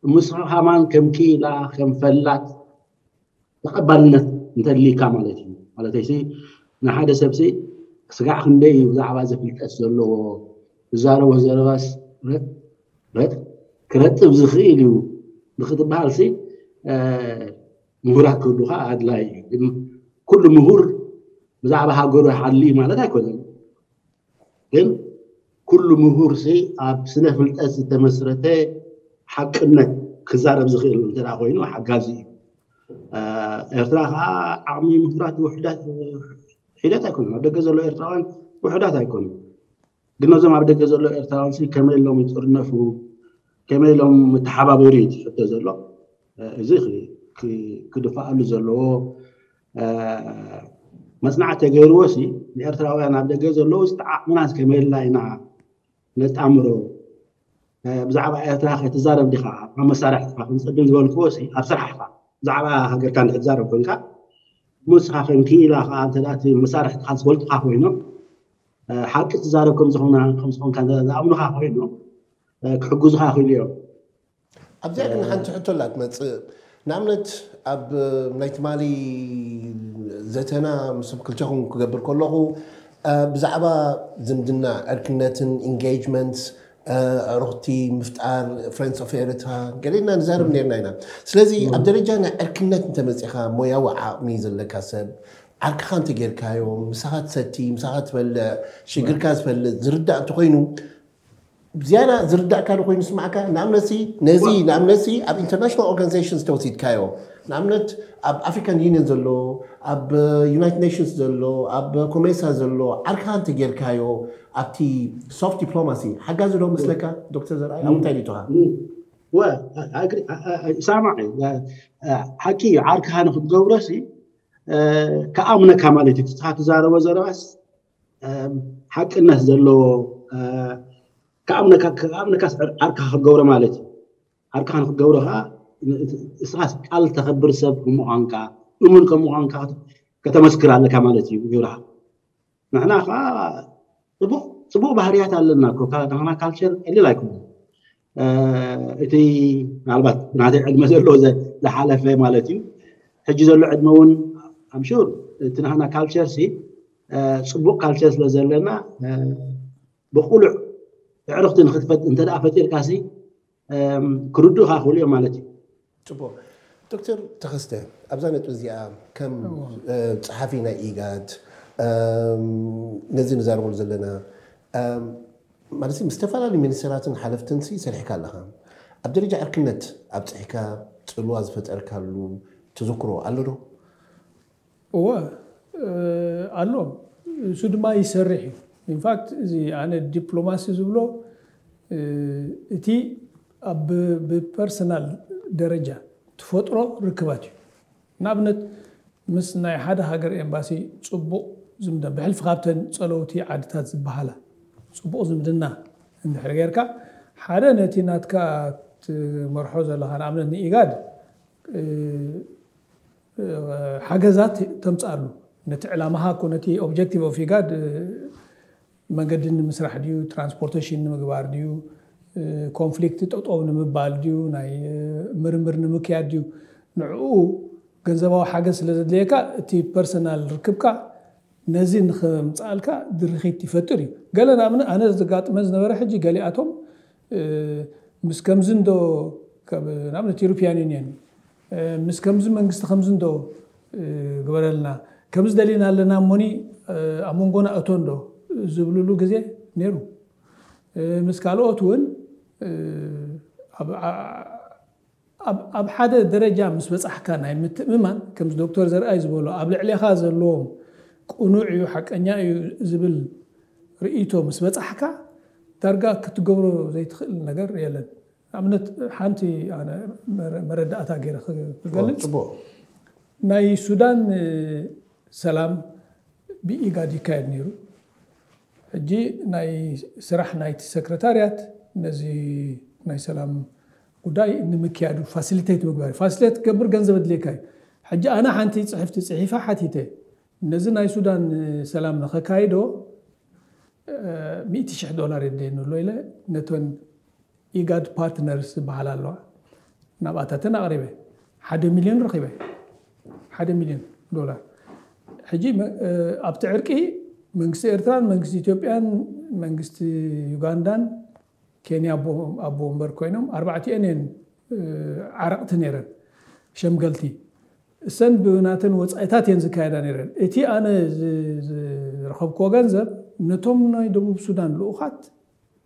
ምስኻ ከማን ከም ክኢላ ከም ፈላጥ ተቐባልነት እንተድልይካ ማለት እዩ። ማለተይሲ ንሓደ ሰብሲ ስጋዕ ክንደይ እዩ ብዛዕባ እዚ ፍልጠት ዘለዎ ዝዛረቦ ዘረባስ ረጥ ረጥ ክረጥብ ዝኽእል እዩ ንክትበሃልሲ ምሁራት ክህሉኻ ኣድላይ እዩ። ግን ኩሉ ምሁር ብዛዕባ ሃገሩ ይሓሊ ማለት ኣይኮነን። ግን ኩሉ ምሁር ሲ ኣብ ስነ ፍልጠት ዝተመስረተ ሓቅነት ክዛረብ ዝኽእል እንተ ኮይኑ ሓጋዚ እዩ። ኤርትራ ከዓ ዓቕሚ ምሁራት ውሕዳት ሒደት ኣይኮኑን። ኣብ ደገ ዘሎ ኤርትራውያን ውሕዳት ኣይኮኑን። ግን ነዞም ኣብ ደገ ዘሎ ኤርትራውያን ሲ ከመይ ኢሎም ይጥርነፉ፣ ከመይ ኢሎም ምተሓባበሩ እዩ ትሕቶ ዘሎ። እዚ ክድፋኣሉ ዘለዎ መፅናዕቲ ተገይርዎ ሲ ንኤርትራውያን ኣብ ደገ ዘለዉ ዝተዓቕምና ከመይ ኢልና ኢና ነጣምሮ። ብዛዕባ ኤርትራ ከይትዛረብ ዲኻ ኣብ መሳርሕትኻ ክንፀድም ዝበልክዎ ሲ ኣብ ስራሕኻ ብዛዕባ ሃገርካ እንድሕር ትዛረብ ኮይንካ ምስኻ ከም ክኢላ ከዓ እንተ እቲ መሳርሕትኻ ዝፈልጡኻ ኮይኖም ሓቂ ትዛረብ ከምዝኾንካ ዝኣምኑኻ ኮይኖም ክሕግዙኻ ይኽእሉ እዮም። ኣብዚኣ ግን ሓንቲ ሕቶ ኣላ ትመፅእ። ንኣብነት ኣብ ናይ ትማሊ ዘተና ምስ ክልተኹም ክገብር ከለኹ ብዛዕባ ዝምድና ዕርክነትን ኢንጌጅመንት ኣዕሩኽቲ ምፍጣር ፍሬንድስ ኦፍ ኤርትራ ገሌና ንዛረብ ነርና ኢና። ስለዚ ኣብ ደረጃ ናይ ዕርክነት እንተመፂኻ ሞያዊ ዓቕሚ ዘለካ ሰብ ዓርክኻ እንተጌርካዮ ምሳኻ ትሰቲ ምሳኻ ትበልዕ ሽግርካ ዝፈልጥ ዝርዳእ እንተኮይኑ ዝያዳ ዝርዳእካ ዶ ኮይኑ ስማዕካ? ንኣብነትሲ ነዚ ንኣብነትሲ ኣብ ኢንተርናሽናል ኦርጋኒዜሽን ዝተወሲድካዮ ንኣብነት ኣብ ኣፍሪካን ዩኒየን ዘሎ ኣብ ዩናይትድ ኔሽንስ ዘሎ ኣብ ኮሜሳ ዘሎ ዓርካ እንተጌርካዮ ኣብቲ ሶፍት ዲፕሎማሲ ሓጋዚ ዶ መስለካ? ዶክተር ዘርኣይ ኣብ እንታይ ሪኢቶኻ? ሳማዕ ሓቂ እዩ። ዓርክኻ ንክትገብሮሲ ክኣምነካ ማለት እዩ። ትስኻ ትዛረቦ ዘረባስ ሓቅነት ዘለዎ ክኣምነካ ክኣምነካ ዓርካ ክገብሮ ማለት እዩ። ዓርካ ንክገብሮ ከዓ እስኻስ ቃል ተኸብር ሰብ ከም ምዃንካ እሙን ከም ምዃንካ ከተመስክር ኣለካ ማለት እዩ ግብርኻ። ንሕና ከዓ ፅቡቅ ፅቡቅ ባህርያት ኣለና እኮ ናህና ካልቸር ቀሊል ኣይኮነ። እቲ ምናልባት ናተይ ዕድመ ዘለዎ ዝሓለፈ ማለት እዩ። ሕጂ ዘሎ ዕድመ እውን ኣምሹር እቲ ናህና ካልቸር ሲ ፅቡቅ ካልቸር ስለ ዘለና ብቁሉዕ ዕርክቲ ንክትፈጥ እንተ ፈጢርካ ሲ ክርዱእካ ክኽእሉ እዮም ማለት እዩ። ፅቡቅ ዶክተር ተኸስተ ኣብዛ ነጥቢ እዚኣ ከም ፀሓፊ ናይ ኢጋድ ነዚ ንዛረበሉ ዘለና ማለት ምስ ዝተፈላለዩ ሚኒስተራትን ሓለፍትን ሰሪሕካ ኣለኻ። ኣብ ደረጃ ዕርክነት ኣብፅሕካ ፅልዋ ዝፈጠርካሉ ተዘክሮ ኣሎ ዶ? እወ ኣሎ። እሱ ድማ ይሰርሕ እዩ። ኢንፋክት እዚ ኣነ ዲፕሎማሲ ዝብሎ እቲ ኣብ ብፐርሰናል ደረጃ ትፈጥሮ ርክባት እዩ። ንኣብነት ምስ ናይ ሓደ ሃገር ኤምባሲ ፅቡቕ ዝምድና ብሕልፊ ካብተን ፀለውቲ ዓድታት ዝበሃላ ፅቡቕ ዝምድና እንድሕር ጌርካ ሓደ ነቲ ናትካ ትመርሖ ዘለኻ ንኣብነት ንኢጋድ ሓገዛት ተምፅኣሉ ነቲ ዕላማኻ እኮ ነቲ ኦብጀክቲቭ ኦፍ ኢጋድ መንገዲ ንምስራሕ ድዩ ትራንስፖርቴሽን ንምግባር ድዩ ኮንፍሊክት ጠጠው ንምባል ድዩ ናይ ምርምር ንምክያድ ድዩ ንዕኡ ገንዘባዊ ሓገዝ ስለ ዘድልየካ እቲ ፐርሰናል ርክብካ ነዚ ንክምፅኣልካ ድርኺት ይፈጥር እዩ። ገለ ንኣብነት ኣነ ዘጋጥመ ዝነበረ ሕጂ ገሊኣቶም ምስ ከምዚ እንዶ ንኣብነት ኢሮፒያን ዩኒየን ምስ ከምዚ መንግስቲ ከምዚ እንዶ ግበረልና ከምዚ ደሊና ኣለና እሞኒ ኣብ መንጎና እቶ እንዶ ዝብልሉ ግዜ ነይሩ። ምስ ካልኦት እውን ኣብ ሓደ ደረጃ ምስ በፃሕካ ናይ ምትእምማን ከምዚ ዶክተር ዘርኣይ ዝበሎ ኣብ ልዕሌኻ ዘለዎም ቅኑዕ እዩ ሓቀኛ እዩ ዝብል ርእይቶ ምስ በፃሕካ ዳርጋ ክትገብሮ ዘይትኽእል ነገር የለን። ንኣብነት ሓንቲ መረዳእታ ገይረ ክገልፅ ናይ ሱዳን ሰላም ብኢጋድ ይካየድ ነይሩ። ሕጂ ናይ ስራሕ ናይቲ ሰክረታርያት ነዚ ናይ ሰላም ጉዳይ ንምክያዱ ፋሲሊቴት ምግባር ፋሲሊቴት ክገብር ገንዘብ ኣድልየካ እዩ። ሕጂ ኣነ ሓንቲ ፅሕፍቲ ፅሒፋ ሓቲተ ነዚ ናይ ሱዳን ሰላም ንኸካይዶ ሚእቲ ሽሕ ዶላር የድልየኒ ኣሎ ኢለ ነተን ኢጋድ ፓርትነርስ ዝበሃላ ኣለዋ ናብኣታተን ኣቕሪበ ሓደ ሚልዮን ረኺበ ሓደ ሚልዮን ዶላር። ሕጂ ኣብቲ ዕርቂ መንግስቲ ኤርትራን መንግስቲ ኢትዮጵያን መንግስቲ ዩጋንዳን ኬንያ ኣቦ ወንበር ኮይኖም ኣርባዕቲኤን እየን ዓረቕቲ ነይረን ሸምገልቲ እሰን ብናተን ወፃኢታት እየን ዝካየዳ ነይረን። እቲ ኣነ ዝረኸብክዎ ገንዘብ ነቶም ናይ ደቡብ ሱዳን ልኡኻት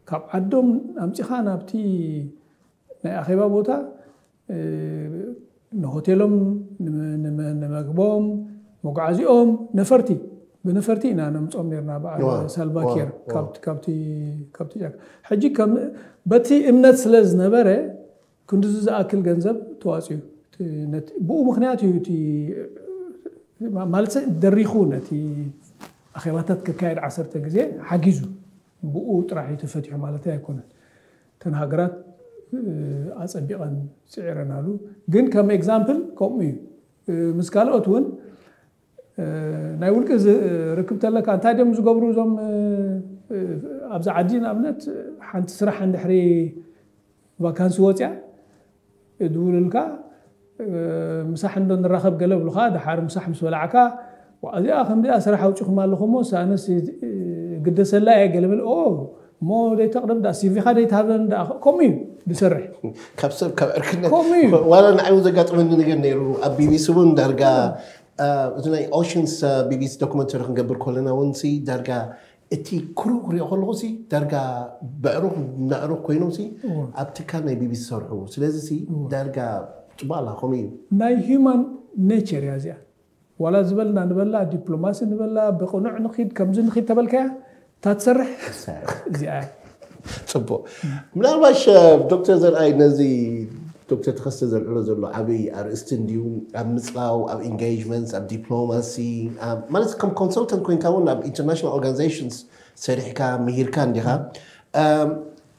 ካብ ዓዶም ኣምፂኻ ናብቲ ናይ ኣኼባ ቦታ ንሆቴሎም ንመግቦም መጓዓዚኦም ነፈርቲ ብነፈርቲ ኢና ነምፆም ነርና በዓል ሳልቫኪር ካብቲ ጫካ ሕጂ በቲ እምነት ስለ ዝነበረ ክንድዚ ዝኣክል ገንዘብ ተዋፅዩ ብኡ ምክንያት እዩ እቲ ማለት ደሪኹ ነቲ ኣኼባታት ክካየድ ዓሰርተ ግዜ ሓጊዙ ብኡ ጥራሕ እዩ ተፈቲሑ ማለት ኣይኮነን። እተን ሃገራት ኣፀቢቐን ፅዒረናሉ። ግን ከም ኤግዛምፕል ከምኡ እዩ። ምስ ካልኦት እውን ናይ ውልቂ ርክብ ተለካ እንታይ ድም ዝገብሩ እዞም ኣብዚ ዓዲ ንኣብነት ሓንቲ ስራሕ እንድሕሪ ቫካንሲ ወፅያ እድውልልካ ምሳሕ እንዶ ንራኸብ ገለ ብልካ ድሓር ምሳሕ ምስ በላዕካ እዚኣ ከምዚኣ ስራሕ ኣውፂኹም ኣለኹሞ ሳነስ ግደሰላ እየ ገለ ብል እሞ ደይተቕርብ ዳ ሲቪኻ ደይትሃበን ዳ ከምኡ እዩ ዝሰርሕ። ካብ ሰብ ካብ ዕርክነት ከምኡ እዩ። ዋላ ንዓይ እውን ዘጋጥመኒ ነገር ነይሩ ኣብ ቢቢሲ እውን ዳርጋ እቲ ናይ ኦሽንስ ቢቢሲ ዶክመንተሪ ክንገብር ከለና እውን ሲ ዳርጋ እቲ ክሩ ክሪኦ ከለኹ ሲ ዳርጋ በዕሩኽ ናዕሩኽ ኮይኖም ሲ ኣብ ትካል ናይ ቢቢሲ ዝሰርሑ ስለዚ ሲ ዳርጋ ፅባላ ከምኡ እዩ። ናይ ሂማን ኔቸር እያ እዚኣ። ዋላ ዝበልና ንበላ ዲፕሎማሲ ንበላ ብቕኑዕ ንኺድ ከምዚ ንኺድ ተበልካያ እታ ትሰርሕ እዚኣ እያ። ፅቡቅ። ምናልባሽ ዶክተር ዘርኣይ ነዚ ዶክተር ተኸስተ ዘልዕሎ ዘሎ ዓብይ ኣርእስቲ እንድዩ ኣብ ምፅላው ኣብ ኢንጌጅመንትስ ኣብ ዲፕሎማሲ ማለት ከም ኮንሰልተንት ኮይንካ እውን ኣብ ኢንተርናሽናል ኦርጋናይዜሽንስ ሰሪሕካ ምሂርካ እንዲኻ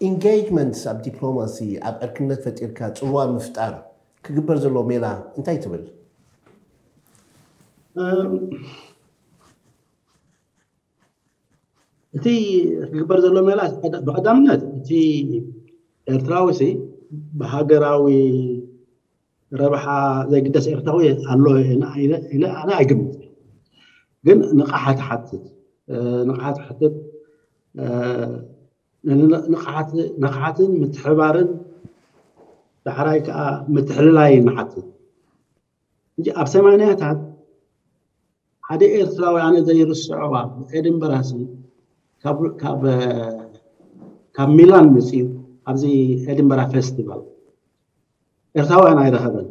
ኢንጌጅመንትስ ኣብ ዲፕሎማሲ ኣብ ዕርክነት ፈጢርካ ፅልዋ ምፍጣር ክግበር ዘለዎ ሜላ እንታይ ትብል? እቲ ክግበር ዘሎ ሜላ ብቀዳምነት እቲ ኤርትራዊ ሲ ብሃገራዊ ረብሓ ዘይግደስ ኤርትራዊ ኣሎ ኢለ ኣነ ኣይግምት። ግን ንቕሓት ሓትት ንቕሓት ሓትት ንቕሓትን ምትሕባርን ዳሕራይ ከዓ ምትሕልላይ ንሓትት። ኣብ ሰማንያታት ሓደ ኤርትራዊ ኣነ ዘይርስዖ ኣብ ኤድንበራ ሲ ካብ ሚላን መፅዩ ኣብዚ ኤድንበራ ፌስቲቫል ኤርትራውያን ኣይረኸበን።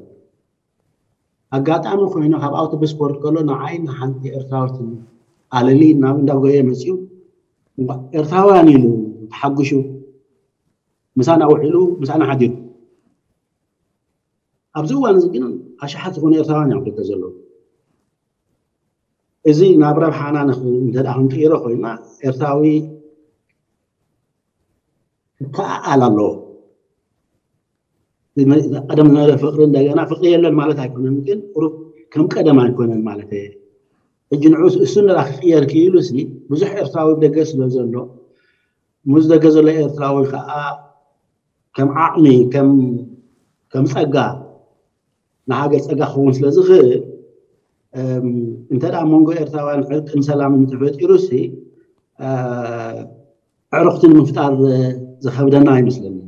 ኣጋጣሚ ኮይኑ ካብ ኣውቶቡስ ክወርድ ከሎ ንዓይ ንሓንቲ ኤርትራዊት ኣለሊ ናብ እንዳጎየ መፅዩ እምበኣር ኤርትራውያን ኢሉ ተሓጒሱ ምሳና ውዒሉ ምሳና ሓዲሩ። ኣብዚ እዋን እዚ ግን ኣሽሓት ዝኾኑ ኤርትራውያን እዮም ደገ ዘለዉ። እዚ ናብ ረብሓና ንኽ- እንተ ደኣ ክንቅይሮ ኮይና ኤርትራዊ ክከኣኣል ኣለዎ። ቀደም ዝነበረ ፍቅሪ እንደገና ፍቅሪ የለን ማለት ኣይኮነን፣ ግን ቁሩብ ከም ቀደም ኣይኮነን ማለት እየ። ሕጂ ንዑ እሱ እንዳ ክቅየር ክኢሉ ሲ ብዙሕ ኤርትራዊ ደገ ስለ ዘሎ፣ ምስ ደገ ዘሎ ኤርትራዊ ከዓ ከም ዓቕሚ ከም ከም ፀጋ ንሃገር ፀጋ ክኸውን ስለ ዝኽእል፣ እንተ ደኣ መንጎ ኤርትራውያን ዕርቅን ሰላምን ተፈጢሩ ሲ ኣዕሩኽቲ ንምፍጣር ዝኸብደና ኣይመስለንን።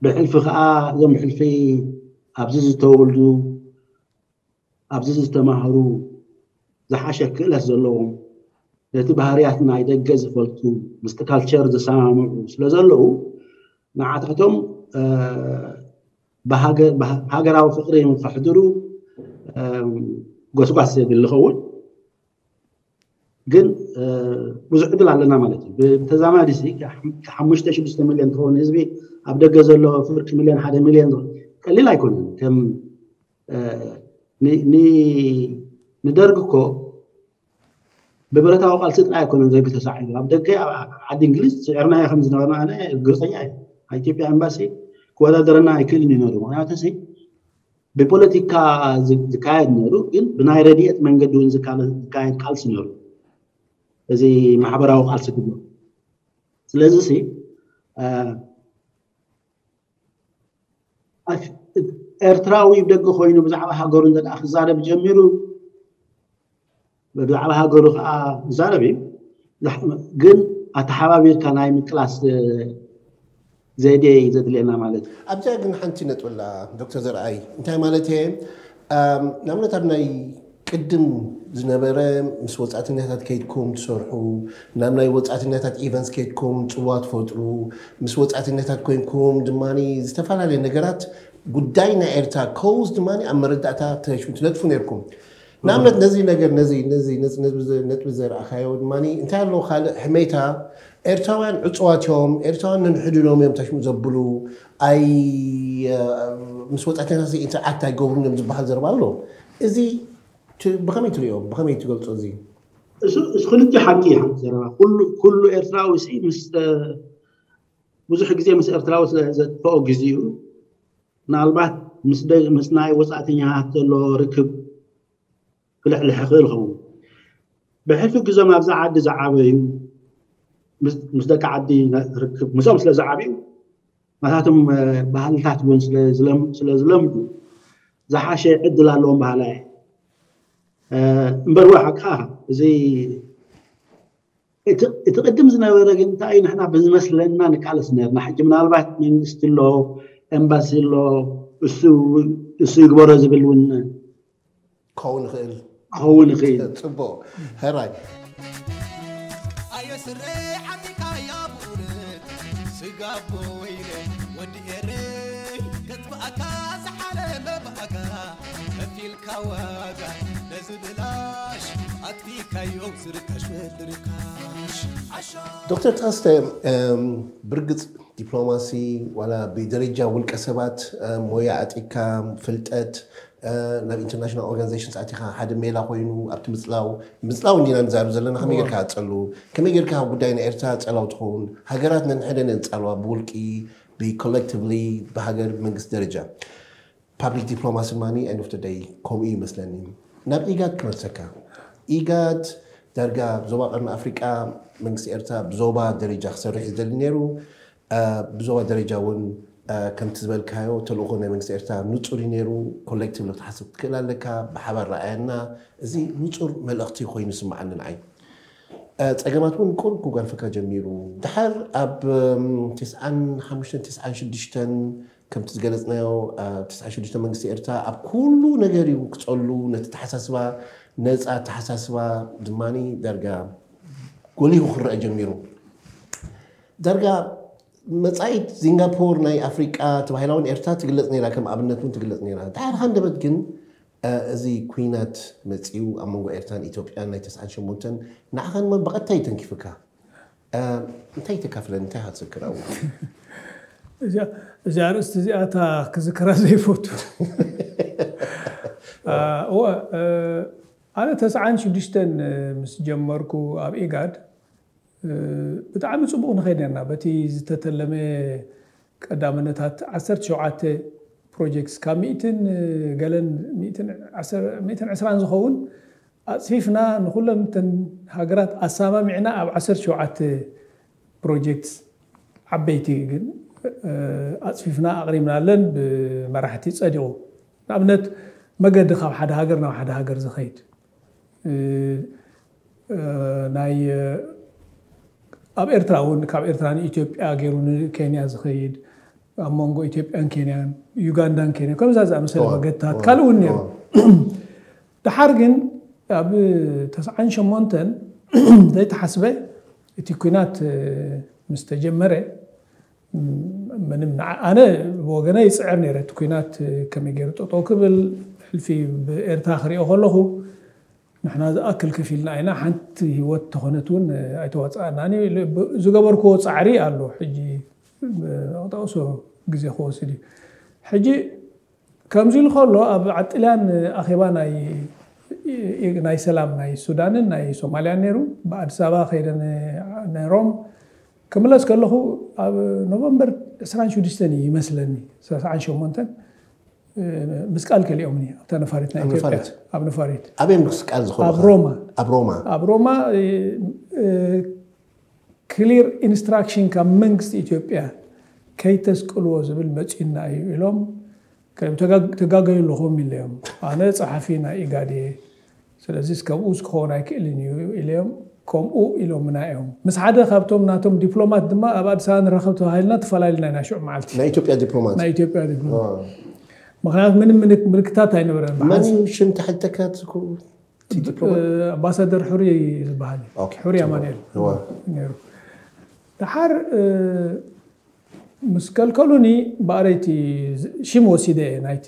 ብሕልፊ ከዓ እዞም ብሕልፊ ኣብዚ ዝተወልዱ ኣብዚ ዝተማህሩ ዝሓሸ ክእለት ዘለዎም ነቲ ባህርያት ናይ ደገ ዝፈልጡ ምስቲ ካልቸር ዝሰማምዑ ስለ ዘለዉ ንዓታቶም ሃገራዊ ፍቅሪ ከሕድሩ ጎስጓስ የድሊ ኸውን። ግን ብዙሕ ዕድል ኣለና ማለት እዩ። ብተዛማዲ ሲ ሓሙሽተ ሽዱሽተ ሚልዮን ትኸውን ህዝቢ ኣብ ደገ ዘሎ ፍርቂ ሚልዮን ሓደ ሚልዮን ቀሊል ኣይኮነን። ከም ንደርግ እኮ ብብረታዊ ቃልሲ ጥራይ ኣይኮነን ደርግ ተሳዒሩ። ኣብ ደገ ዓዲ እንግሊዝ ስዒርናዮ ከም ዝነበርና ኣነ እርግጠኛ እየ። ኣብ ኢትዮጵያ ኤምባሲ ክወዳደረና ኣይክእልን እዩ ነሩ። ምክንያቱ ሲ ብፖለቲካ ዝካየድ ነሩ፣ ግን ብናይ ረድኤት መንገዲ እውን ዝካየድ ቃልሲ ነሩ። እዚ ማሕበራዊ ቃልሲ ክብሎ ስለዚ ሲ ኤርትራዊ ደገ ኮይኑ ብዛዕባ ሃገሩ እንተ ክዛረብ ጀሚሩ ብዛዕባ ሃገሩ ከዓ ክዛረብ እዩ። ግን ኣተሓባቢርካ ናይ ምቅላስ ዘዴ እዩ ዘድልየና ማለት እዩ። ኣብዚኣ ግን ሓንቲ ነጥብላ ዶክተር ዘርኣይ እንታይ ማለት እየ ንኣብነት ኣብ ናይ ቅድም ዝነበረ ምስ ወፃእተኛታት ከይድኩም ትሰርሑ ናብ ናይ ወፃእተኛታት ኢቨንትስ ከይድኩም ፅዋ ትፈጥሩ ምስ ወፃእተኛታት ኮይንኩም ድማ ዝተፈላለየ ነገራት ጉዳይ ናይ ኤርትራ ከውዝ ድማ ኣብ መረዳእታ ትነጥፉ ነርኩም ንኣብነት ነዚ ነገር ነዚ ነዚ ነጥቢ ዘርኣኻዮ ድማ እንታይ ኣለዎ ካልእ ሕሜታ ኤርትራውያን ዕፅዋት እዮም ኤርትራውያን ነንሕድኖም እዮም ተሽሙ ዘብሉ ኣይ ምስ ወፃእተኛታት ኢንተርኣክት ኣይገብሩን እዮም ዝበሃል ዘረባ ኣሎ እዚ ብኸመይ ትሪኦ ብኸመይ ትገልፆ እዚ እዚ ክልተ ሓቂ ሓንቲ ዘረባ ኩሉ ኤርትራዊ ምስ ብዙሕ ግዜ ምስ ኤርትራዊ ስለ ዘጥፈኦ ግዜኡ ምናልባት ምስ ናይ ወፃእተኛታት ዘሎ ርክብ ክልሕልሕ ይኽእል ኸውን። ብሕልፊ ግዞም ኣብዛ ዓዲ ዝዓበዩ ምስ ደቂ ዓዲ ርክብ ምስኦም ስለ ዝዓብዩ ናታቶም ባህልታት እውን ስለ ዝለምዱ ዝሓሸ ዕድል ኣለዎም ባህላ እየ። እምበር ዋ ሓቅኻ እዚ እቲ ቅድም ዝነበረ ግን እንታይ እዩ ንሕና ብዝመስለና ንቃለስ ነርና ሕጂ ምናልባት መንግስቲ ኣሎ ኤምባሲ ኣሎ እሱ ይግበሮ ዝብል እውን ክኸውን ይኽእል ክኸውን ይኽእል ፅቡቅ ሕራይ ኣየ ስረ ሓሚካ ያ ብእውነት ስጋቦ ወይነ ወዲ ኤረይ ከጥፍኣካ ዝሓለመ ብኣካ ከፊልካ ዋጋ ነዚ ብላሽ ኣጥፊእካዮ ዝርካሽ ወዲ ርካሽ ዓሾ ዶክተር ተኸስተ ብርግፅ ዲፕሎማሲ ዋላ ብደረጃ ውልቀ ሰባት ሞያ ኣጢካ ፍልጠት ናብ ኢንተርናሽናል ኦርጋናይዜሽን ኣቲኻ ሓደ ሜላ ኮይኑ ኣብቲ ምፅላው ምፅላው እንዲና ንዛረብ ዘለና ከመይ ጌርካ ኣፀሉ ከመይ ጌርካ ኣብ ጉዳይ ናይ ኤርትራ ፀላው ትኸውን ሃገራት ነንሕደ ነንፃልዋ ብውልቂ ብኮሌክቲቭሊ ብሃገር መንግስቲ ደረጃ ፓብሊክ ዲፕሎማሲ ማኒ ኤንድ ኦፍ ደይ ከምኡ ይመስለኒ ናብ ኢጋድ ክመልሰካ ኢጋድ ዳርጋ ዞባ ቀርኒ ኣፍሪቃ መንግስቲ ኤርትራ ብዞባ ደረጃ ክሰርሕ ይደሊ ነይሩ ብዞባ ደረጃ እውን ከምቲ ዝበልካዮ ተልእኮ ናይ መንግስቲ ኤርትራ ንፁር እዩ ነይሩ ኮሌክቲቭ ክትሓስብ ክትክእል ኣለካ ብሓባር ረኣየና እዚ ንፁር መልእክቲ ኮይኑ ይስምዓኒ ንዓይ ፀገማት እውን ቁሩብ ክጓንፈካ ጀሚሩ ድሓር ኣብ ተስዓን ሓሙሽተን ተስዓን ሽዱሽተን ከምቲ ዝገለፅናዮ ኣብ ተስዓን ሽዱሽተን መንግስቲ ኤርትራ ኣብ ኩሉ ነገር እዩ ክፀሉ ነቲ ተሓሳስባ ነፃ ኣተሓሳስባ ድማ ዳርጋ ጎሊሁ ክረአ ጀሚሩ ዳርጋ መፃኢት ሲንጋፖር ናይ ኣፍሪቃ ተባሂላ እውን ኤርትራ ትግለፅ ነይራ ከም ኣብነት እውን ትግለፅ ነይራ ድሓር ሃንደበት ግን እዚ ኩናት መፂኡ ኣብ መንጎ ኤርትራን ኢትዮጵያን ናይ ተስዓን ሸሞንተን ንዓኻ ድማ ብቐጥታ እዩ ተንኪፍካ እንታይ ተካፍለን እንታይ ሃትዝክር ኣው እዚ ኣርእስቲ እዚኣታ ክዝክራ ዘይፈቱ ኣነ ተስዓን ሽዱሽተን ምስ ጀመርኩ ኣብ ኢጋድ ብጣዕሚ ፅቡቅ ንኸይድ ነርና በቲ ዝተተለመ ቀዳምነታት ዓሰርተ ሸውዓተ ፕሮጀክትስ ካብ ሚእትን ገለን ሚእትን ዕስራን ዝኸውን ኣፅፊፍና ንኩለን ተን ሃገራት ኣሰማሚዕና ኣብ ዓሰርተ ሸውዓተ ፕሮጀክትስ ዓበይቲ ግን ኣፅፊፍና ኣቕሪብናለን ብመራሕቲ ፀዲቑ ንኣብነት መገዲ ካብ ሓደ ሃገር ናብ ሓደ ሃገር ዝኸይድ ናይ ኣብ ኤርትራ እውን ካብ ኤርትራ ንኢትዮጵያ ገይሩ ንኬንያ ዝኸይድ ኣብ መንጎ ኢትዮጵያን ኬንያን ዩጋንዳን ኬንያ ከምዛ ዝኣመሰለ መገድታት ካልእ እውን ነይሩ ድሓር ግን ኣብ ተስዓን ሸሞንተን ዘይተሓስበ እቲ ኩናት ምስ ተጀመረ ምንም ኣነ ብወገነ ይፅዕር ነይረ እቲ ኩናት ከመይ ገይሩ ጠጠው ክብል ሕልፊ ብኤርትራ ክሪኦ ከለኹ ንሕና ዝኣክል ከፊልና ኢና ሓንቲ ህይወት ተኾነት እውን ኣይተዋፅኣና ዝገበርክዎ ፃዕሪ ኣሎ ሕጂ ጠቕሶ ግዜ ክወስድ እዩ ሕጂ ከምዚ ኢሉ ከሎ ኣብ ዓጥልያን ኣኼባ ናይ ሰላም ናይ ሱዳንን ናይ ሶማልያን ነይሩ ብኣዲስ ኣበባ ከይደ ነይሮም ክምለስ ከለኹ ኣብ ኖቨምበር ዕስራን ሽዱሽተን እዩ ይመስለኒ ሰስዓን ሸሞንተን ምስ ቃል ከሊኦምኒ ኣብታ ነፋሪት ናይ ኢትዮጵያ ኣብ ነፋሪት ኣበይ ምስ ቃል ዝኾኑ ኣብ ሮማ ኣብ ሮማ ኣብ ሮማ clear instruction ካብ መንግስቲ ኢትዮጵያ ከይተስቅልዎ ዝብል መፂኡና እዩ ኢሎም ተጋገዩ ኣለኹም ኢለዮም ኣነ ፀሓፊ ናይ ኢጋድ እየ ስለዚ ከምኡ ክኸውን ኣይክእልን እዩ ኢለዮም ከምኡ ኢሎምና እዮም ምስ ሓደ ካብቶም ናቶም ዲፕሎማት ድማ ኣብ ኣዲስ ኣበባ ንራኸብ ተባሂልና ተፈላለና ኢና ሽዑ መዓልቲ ናይ ኢትዮጵያ ዲፕሎማት ናይ ኢትዮጵያ ዲፕሎማት ምክንያቱ ምንም ምልክታት ኣይነበረን መን እዩ ሽም ተሓተካ ትዝክሩ ኣምባሳደር ሕሩይ ዝበሃል ሕሩይ ኣማንኤል ነይሩ ድሓር ምስ ከልከሉኒ ብኣረይቲ ሽም ወሲደ ናይቲ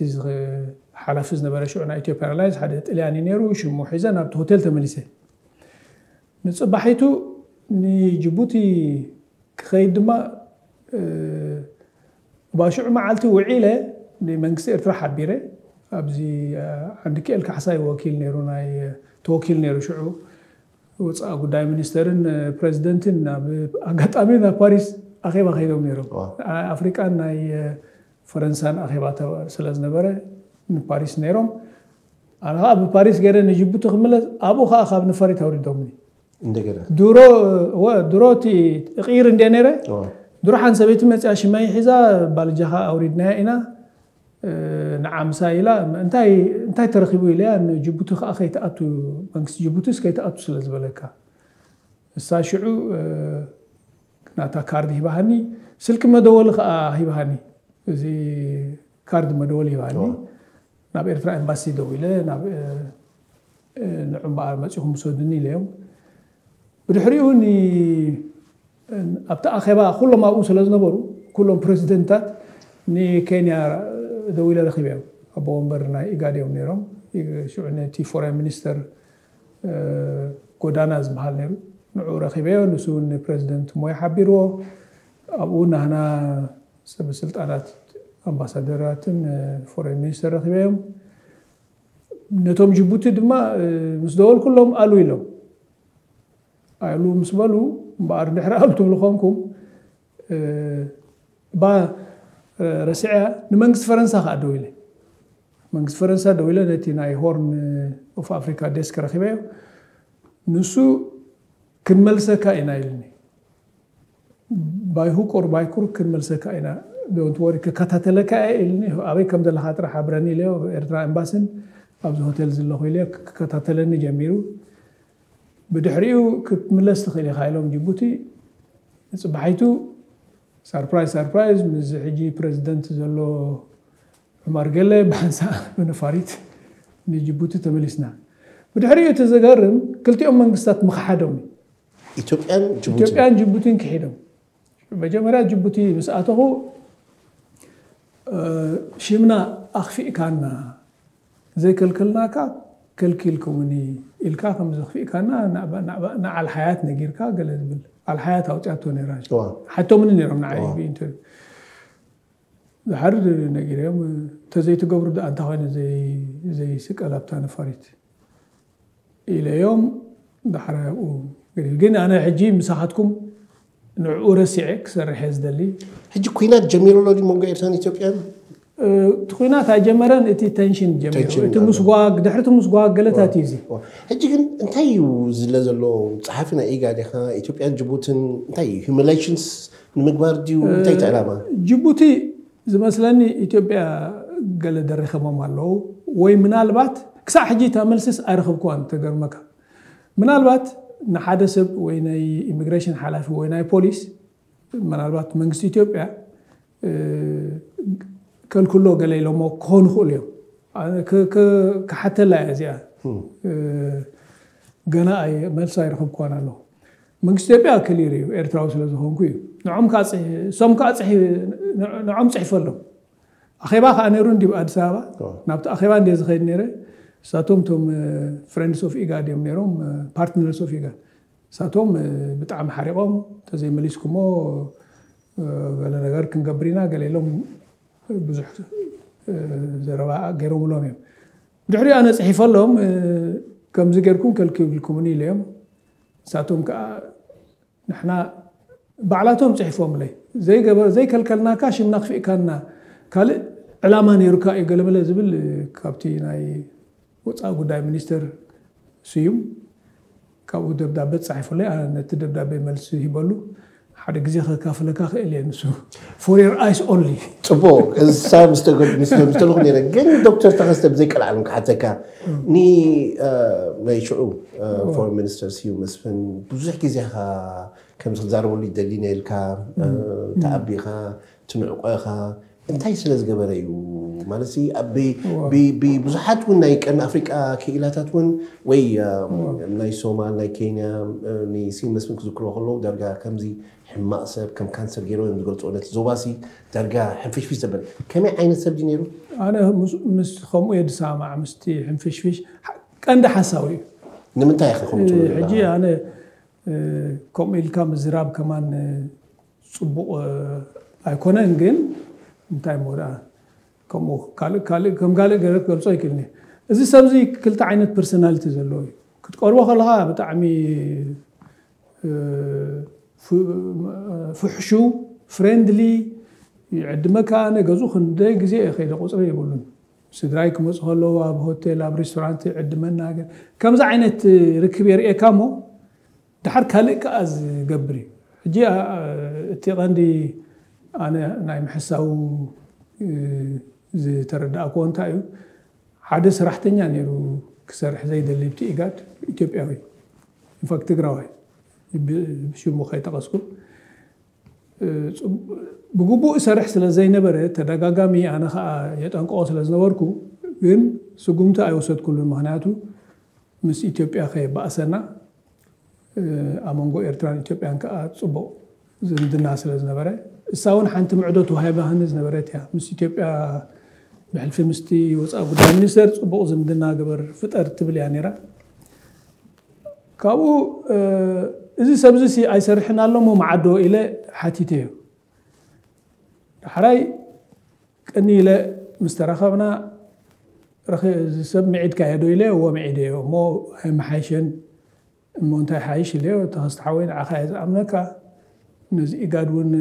ሓላፊ ዝነበረ ሽዑ ናይ ኢትዮጵያ ኤርላይንስ ሓደ ጥልያን እዩ ነይሩ ሽሙ ሒዘ ናብቲ ሆቴል ተመሊሰ ንፅባሒቱ ንጅቡቲ ክኸይድ ድማ ባሽዑ መዓልቲ ውዒለ ንመንግስቲ ኤርትራ ሓቢረ ኣብዚ ዓንዲ ክኤል ካሕሳይ ወኪል ነይሩ ናይ ተወኪል ነይሩ ሽዑ ወፃኢ ጉዳይ ሚኒስተርን ፕሬዚደንትን ኣብ ኣጋጣሚ ናብ ፓሪስ ኣኼባ ከይዶም ነይሮም ኣፍሪቃን ናይ ፈረንሳን ኣኼባ ስለዝነበረ ንፓሪስ ነይሮም ኣነ ከዓ ብፓሪስ ገይረ ንጅቡቲ ክምለስ ኣብኡ ከዓ ካብ ነፋሪት ኣውሪዶምኒ እንደገና ድሮ ወ- ድሮ እቲ እቕይር እንደ ነይረ ድሮ ሓን ሰበይቲ መፅያ ሽመይ ሒዛ ባልጃኻ ኣውሪድናያ ኢና እ፣ ንዓ ምሳ ኢላ እንታይ እንታይ ተረኺቡ ኢለያ ንጅቡቲ ከዓ ከይትኣቱ መንግስቲ ጅቡቲስ ከይትኣቱ ስለ ዝበለካ እሳ ሽዑ እ፣ ናታ ካርድ ሂባሃኒ ስልኪ መደወሊ ከዓ ሂባሃኒ እዚ ካርድ መደወሊ ሂባሃኒ ናብ ኤርትራ ኤምባሲ ደዊለ ናብ ንዑ እምበኣር መፂኹም ውሰዱኒ ኢለዮም ብድሕሪኡ ኣብቲ ኣኼባ ኩሎም ኣብኡ ስለ ዝነበሩ ኩሎም ፕሬዚደንታት ንኬንያ ደዊለ ረኪበዮም ኣቦ ወንበር ናይ ኢጋድ እዮም ነይሮም ሽዑ ነቲ ፎሬን ሚኒስተር ጎዳና ዝበሃል ነይሩ ንዑ ረኪበዮ ንሱ እውን ንፕሬዚደንት ሞይ ሓቢርዎ ኣብኡ ናህና ሰበስልጣናት ኣምባሳደራትን ፎሬን ሚኒስተር ረኪበዮም ነቶም ጅቡቲ ድማ ምስ ደወልኩሎም ኣሉ ኢሎም ኣሉ ምስ በሉ እምበኣር እንድሕር ኣብ ትብሉ ኮንኩም ባ ረስዕያ ንመንግስቲ ፈረንሳ ከዓ ደው ኢለ መንግስቲ ፈረንሳ ደው ኢለ ነቲ ናይ ሆርን ኦፍ ኣፍሪካ ዴስክ ረኪበዮ ንሱ ክንመልሰካ ኢና ኢልኒ ባይሁቁር ባይኩር ክንመልሰካ ኢና ዶንት ወሪ ክከታተለካ እየ ኢልኒ ኣበይ ከም ዘለካ ጥራሕ ኣብረኒ ኢለዮ ኤርትራ ኤምባስን ኣብዚ ሆቴል ዘለኹ ኢለ ክከታተለኒ ጀሚሩ ብድሕሪኡ ክትምለስ ትኽእል ኢኻ ኢሎም ጅቡቲ ንፅባሒቱ ሳርፕራይዝ ሳርፕራይዝ ምስ ሕጂ ፕሬዚደንት ዘሎ ዑማር ገለ ብሓንሳ ብነፋሪት ንጅቡቲ ተመሊስና ብድሕሪኡ እቲ ዝገርም ክልቲኦም መንግስታት ምክሓዶም ኢትዮጵያን ጅቡቲ ኢትዮጵያን ጅቡቲን ክሒዶም መጀመርያ ጅቡቲ ምስ ኣተኹ ሽምና ኣኽፊእካና ዘይከልከልናካ ከልኪልኩምኒ ኢልካ ከም ዘኽፊእካና ንዓል ሓያት ነጊርካ ገለ ዝብል ኣልሓያት ኣውፅኣቶ ነይራ። እዋ። ሓቶምኒ ነይሮም ንዓይ ብኢንተርቪው። ዝሓርድ ነጊረዮም፣ እንተዘይትገብሩ ደኣ እንታይ ኮይነ ዘይ- ዘይስቀል ኣብታ ነፋሪት ኢለዮም። ዳሕራይ ኣብኡ ገዲፍ። ግን ኣነ ሕጂ ምሳኻትኩም ንዕኡ ረሲዐ ክሰርሕ እየ ዝደሊ። ሕጂ ኩናት ጀሚሩ ኣሎ ድዩ መንጎ ኤርትራን ኢትዮጵያን? እቲ ኩናት ኣይጀመረን፣ እቲ ቴንሽን ጀሚሩ። ቴንሽን እቲ ኣሎ። ምስጓግ፣ ድሕሪ እቲ ምስጓግ ገለታት እዩ እዚ። ሕጂ ግን እንታይ እዩ ዝለ ዘሎ? ጸሓፊ ናይ ኢጋድ ኢኻ፣ ኢትዮጵያን ጅቡትን እንታይ እዩ? ሂዩማን ሪሌሽንስ ንምግባር ድዩ? እንታይ እቲ ዕላማ? ጅቡቲ ዝመስለኒ ኢትዮጵያ ገለ ደሪኸሞም ኣለዉ፣ ወይ ምናልባት ክሳዕ ሕጂ እታ መልስስ ኣይረኸብኩዋን። ተገርመካ፣ ምናልባት ንሓደ ሰብ ወይ ናይ ኢሚግሬሽን ሓላፊ ወይ ናይ ፖሊስ፣ ምናልባት መንግስቲ ኢትዮጵያ ከልክሎ ገለ ኢሎሞ ክኾኑ ይኽእሉ እዮም። ክሓተላ እያ እዚኣ። ገና መልሲ ኣይረኸብኳን ኣለኹ። መንግስቲ ኢትዮጵያ ክሊር እዩ፣ ኤርትራዊ ስለ ዝኾንኩ እዩ። ንዖም እሶም ከዓ ንዖም ፅሒፈሎም። ኣኼባ ከዓ ነይሩ እንዲ ኣዲስ ኣበባ። ናብቲ ኣኼባ እንዲ ዝኸይድ ነይረ። እሳቶም ቶም ፍሬንድስ ኦፍ ኢጋድ እዮም ነይሮም፣ ፓርትነርስ ኦፍ ኢጋድ። እሳቶም ብጣዕሚ ሓሪቖም፣ ተዘይመሊስኩሞ ገለ ነገር ክንገብር ኢና ገለ ኢሎም ብዙሕ ዘረባ ገይሮምሎም እዮም። ድሕሪኡ ኣነ ፅሒፈሎም፣ ከምዚ ጌርኩም ከልኪብልኩምኒ ኢለዮም። ንሳቶም ከዓ ንሕና ባዕላቶም ፅሒፎምለይ፣ ዘይገበር ዘይከልከልናካ ሽምና ክፍእካና ካልእ ዕላማ ነይሩካ እዩ ገለመለ ዝብል ካብቲ ናይ ወፃኢ ጉዳይ ሚኒስትር ስዩም ካብኡ ደብዳቤ ተፃሒፉለይ። ኣነ ነቲ ደብዳቤ መልሲ ሂበሉ። ሓደ ግዜ ከካፍለካ ክእል እየ ንሱ for your eyes only። ፅቡቅ። እሳ ምስተለኩ ነረ ግን ዶክተር ተኸስተ ብዘይቀልዓለም ክሓተካ ኒ ናይ ሽዑ ፎረን ሚኒስተር ስዩ መስፍን ብዙሕ ግዜኻ ከምዚ ክዛረበሉ ይደሊ ነልካ ተኣቢኻ ትንዕቆ ኢኻ እንታይ ስለ ዝገበረ እዩ ማለት ብዙሓት እውን ናይ ቀርኒ ኣፍሪቃ ክኢላታት እውን ወይ ናይ ሶማል ናይ ኬንያ ንስዩ መስፍን ክዝክሮ ከለዉ ዳርጋ ከምዚ ሕማቕ ሰብ ከም ካንሰር ገይሮ እዮም ዝገልፅዎ ነቲ ዞባሲ ዳርጋ ሕንፍሽፍሽ ዘበለ ከመይ ዓይነት ሰብ ድዩ ነይሩ? ኣነ ምስ ከምኡ እየ ዝሰማማዕ ምስቲ ሕንፍሽፍሽ ቀንዲ ሓሳዊ እዩ። ንምንታይ ኢኻ ከምኡ ትብሉ? ሕጂ ኣነ ከምኡ ኢልካ ምዝራብ ከማን ፅቡቕ ኣይኮነን። ግን እንታይ እሞ ደኣ ከምኡ ካልእ ካልእ ከም ካልእ ገለ ክገልጾ ኣይክእልን እየ። እዚ ሰብዚ ክልተ ዓይነት ፐርሶናሊቲ ዘለዎ እዩ። ክትቀርቦ ከለኻ ብጣዕሚ ፍሕሹው ፍሬንድሊ ይዕድመካ። ኣነ ገዝኡ ክንደይ ግዜ እየ ከይደ ቁፅሪ የብሉን። ስድራይ ክመፁ ከለዉ ኣብ ሆቴል ኣብ ሬስቶራንት ይዕድመና። ከምዚ ዓይነት ርክብ የርእየካ እሞ ድሓር ካልእ ከኣ ዝገብር እዩ። ሕጂ እቲ ቀንዲ ኣነ ናይ ምሕሳው ዝተረዳእክዎ እንታይ እዩ፣ ሓደ ሰራሕተኛ ነይሩ ክሰርሕ ዘይደሊ ብቲ ኢጋድ ኢትዮጵያዊ ኢንፋክት ትግራዋይ ብሽሙ ከይጠቐስኩ ብግቡእ ይሰርሕ ስለ ዘይነበረ ተደጋጋሚ ኣነ ከዓ የጠንቀቆ ስለ ዝነበርኩ ግን ስጉምቲ ኣይወሰድኩሉን። ምክንያቱ ምስ ኢትዮጵያ ከየባእሰና ኣብ መንጎ ኤርትራን ኢትዮጵያን ከዓ ፅቡቅ ዝምድና ስለ ዝነበረ እሳ እውን ሓንቲ ምዕዶ ተዋሂባኒ ዝነበረት እያ። ምስ ኢትዮጵያ ብሕልፊ ምስቲ ወፃኢ ጉዳይ ሚኒስተር ፅቡቅ ዝምድና ግበር ፍጠር ትብል እያ ነይራ። ካብኡ እዚ ሰብዚ ሲ ኣይሰርሕን ኣሎ እሞ መዓዶ ኢለ ሓቲተዮ። ዳሕራይ ቅኒ ኢለ ምስ ተራኸብና ሰብ ምዒድካዮ ዶ ኢለ እዎ ምዒደዮ እሞ ኣይመሓይሸን እሞ እንታይ ሓይሽ ኢለዮ። ተኸስተ ሓወይ ንዓኻ እየ ዝኣምነካ፣ ነዚ ኢጋድ እውን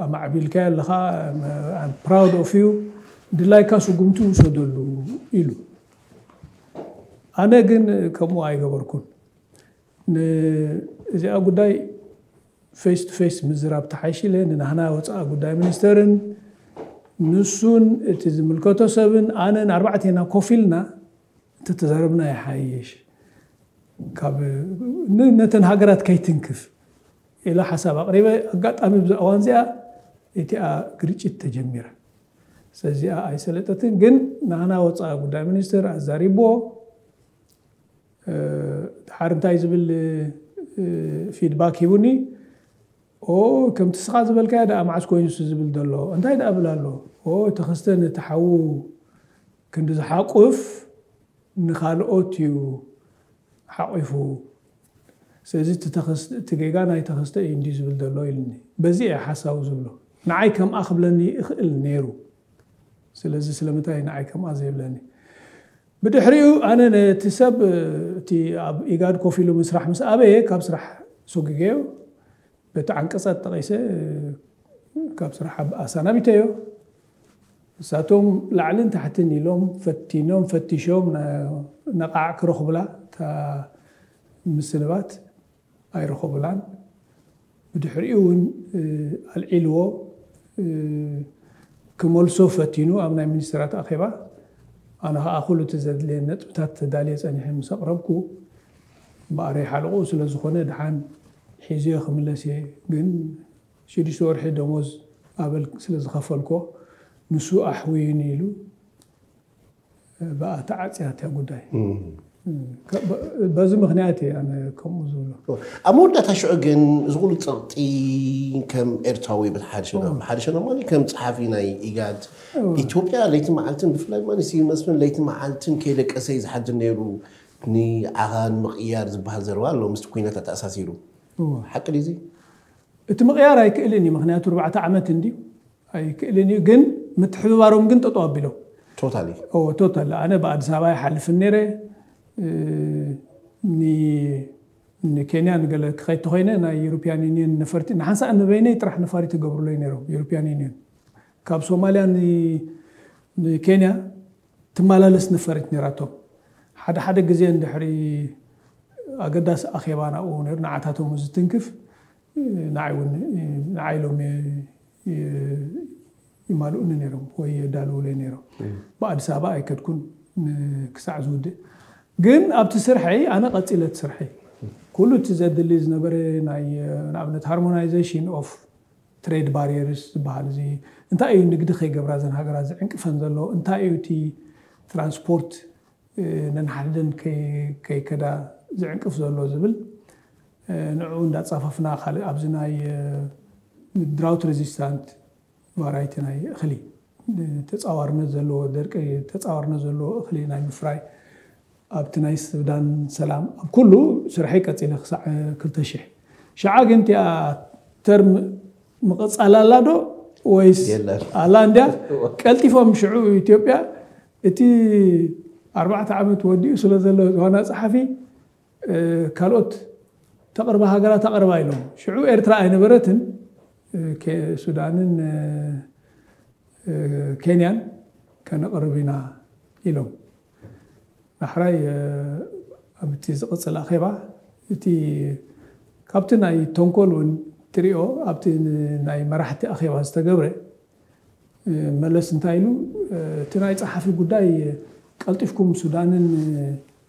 ኣማዕቢልካዮ ኣለኻ፣ ፕራውድ ኦፍ ዩ፣ ድላይካ ስጉምቲ ውሰደሉ ኢሉ። ኣነ ግን ከምኡ ኣይገበርኩን። እዚኣ ጉዳይ ፌስ ቱ ፌስ ምዝራብ ተሓይሽ ኢለ ንናህና ወፃኢ ጉዳይ ሚኒስተርን ንሱን እቲ ዝምልከቶ ሰብን ኣነን ኣርባዕቴና ኮፍ ኢልና እንተተዛረብና ይሓይሽ፣ ካብ ነተን ሃገራት ከይትንክፍ ኢለ ሓሳብ ኣቕሪበ። ኣጋጣሚ ብዛ እዋን እዚኣ እቲኣ ግርጭት ተጀሚረ። ስለዚኣ ኣይሰለጠትን፣ ግን ናህና ወፃኢ ጉዳይ ሚኒስተር ኣዛሪብዎ ድሓር እንታይ ዝብል ፊድባክ ሂቡኒ። ኦ ከምቲ ስኻ ዝበልካዮ ደኣ መዓስ ኮይኑ ሱ ዝብል ዘሎ እንታይ ደኣ ብል ኣሎ። ኦ ተኸስተ ነቲ ሓዉ ክንዲ ዝሓቁፍ ንኻልኦት እዩ ሓቂፉ። ስለዚ እቲ ተኸስ- እቲ ጌጋ ናይ ተኸስተ እዩ እንዲ ዝብል ዘሎ ኢልኒ። በዚ እየ ሓሳቡ ዝብሎ። ንዓይ ከምኣ ክብለኒ ይኽእል ነይሩ። ስለዚ ስለምንታይ ንዓይ ከምኣ ዘይብለኒ? ብድሕሪኡ ኣነ ነቲ ሰብ እቲ ኣብ ኢጋድ ኮፍ ኢሉ ምስራሕ ምስ ኣበየ ካብ ስራሕ ሶጊገዮ። በቲ ዓንቀጻት ጠቒሰ ካብ ስራሕ ኣሰናቢተዮ። ንሳቶም ላዕልን ታሕትን ኢሎም ፈቲኖም ፈቲሾም ነቓዕ ክረኽቡላ እታ ምስንባት ኣይረኸቡላን። ብድሕሪኡ እውን ኣልዒልዎ ክመልሶ ፈቲኑ ኣብ ናይ ሚኒስትራት ኣኼባ። ኣነ ከዓ ኩሉ እቲ ዘድልየ ነጥብታት ተዳልየ ፀኒሐ ምስ ኣቕረብኩ እምበኣረይ ሓለቑ ስለ ዝኾነ ድሓን ሒዝዮ ክምለስ እየ፣ ግን ሽዱሽተ ወርሒ ደሞዝ ኣበል ስለ ዝኸፈልኮ ንሱ ኣሕውዩኒ ኢሉ ብኣ ተዓፅያ እታ ጉዳይ። በዚ ምክንያት እየ ኣነ ከምኡ ዝብሎ። ኣብ መወዳእታ ሽዑ ግን እዚ ኩሉ ፀቕጢ ከም ኤርትራዊ ብሓደ ሸነኽ ብሓደ ሸነኽ ማለት ከም ፀሓፊ ናይ ኢጋድ ኢትዮጵያ ለይቲ መዓልትን ብፍላይ ማለት ስዩም መስፍን ለይቲ መዓልትን ከይደቀሰ እዩ ዝሓድር ነይሩ። ንዓኻ ንምቕያር ዝበሃል ዘረባ ኣሎ ምስቲ ኩናት ኣተኣሳሲሩ። ሓቂ ድዩ እዚ? እቲ ምቕያር ኣይክእልን እዩ፣ ምክንያቱ ኣርባዕተ ዓመት እንድዩ ኣይክእልን እዩ። ግን ምትሕብባሮም ግን ጠጠው ኣቢሎም። ቶታሊ ቶታል ኣነ ብኣዲስ ኣበባ ይሓልፍን ነይረ። ንኬንያ ንገለ ክኸይድ ተኮይነ ናይ ዩሮፒያን ዩኒየን ነፈርቲ ንሓንሳእ ንበይነይ ጥራሕ ነፋሪት ይገብሩለይ ነይሮም። ዩሮፒያን ዩኒየን ካብ ሶማልያ ንኬንያ ትመላለስ ነፈሪት ነይራቶም። ሓደ ሓደ ግዜ እንድሕሪ ኣገዳሲ ኣኼባ ናብኡ ነይሩ ንዓታቶም ዝትንክፍ ንዓይ እውን ንዓይ ኢሎም ይማልኡኒ ነይሮም ወይ የዳልውለይ ነይሮም። ብኣዲስ ኣበባ ኣይከድኩን ክሳዕ ዝውድእ። ግን ኣብቲ ስርሐይ ኣነ ቀፂለ እቲ ስርሐይ ኩሉ እቲ ዘድሊ ዝነበረ ናይ ንኣብነት harmonization of trade barriers ዝበሃል እዚ እንታይ እዩ ንግዲ ከይገብራ ዘን ሃገራት ዝዕንቅፈን ዘሎ እንታይ እዩ እቲ ትራንስፖርት ነንሓድን ከይከዳ ዝዕንቅፍ ዘሎ ዝብል ንዕኡ እንዳፃፈፍና ካልእ ኣብዚ ናይ drought resistant variety ናይ እኽሊ ተፃዋርነት ዘለዎ ደርቂ ተፃዋርነት ዘለዎ እኽሊ ናይ ምፍራይ ኣብቲ ናይ ሱዳን ሰላም ኣብ ኩሉ ስርሐይ ቀፂለ ክሳዕ ክልተ ሽሕ ሽዓ ግን እቲኣ ተርም ምቕፃል ኣላ ዶ ወይስ ኣላ እንድያ ቀልጢፎም ሽዑ ኢትዮጵያ እቲ ኣርባዕተ ዓመት ወዲኡ ስለ ዘሎ ዋና ፀሓፊ ካልኦት ተቕርባ ሃገራት ኣቕርባ ኢሎም ሽዑ ኤርትራ ኣይነበረትን ሱዳንን ኬንያን ከነቕርብ ኢና ኢሎም ዳሕራይ ኣብቲ ዝቕፅል ኣኼባ እቲ ካብቲ ናይ ተንኮል እውን ትሪኦ ኣብቲ ናይ መራሕቲ ኣኼባ ዝተገብረ መለስ እንታይ ኢሉ እቲ ናይ ፀሓፊ ጉዳይ ቀልጢፍኩም ሱዳንን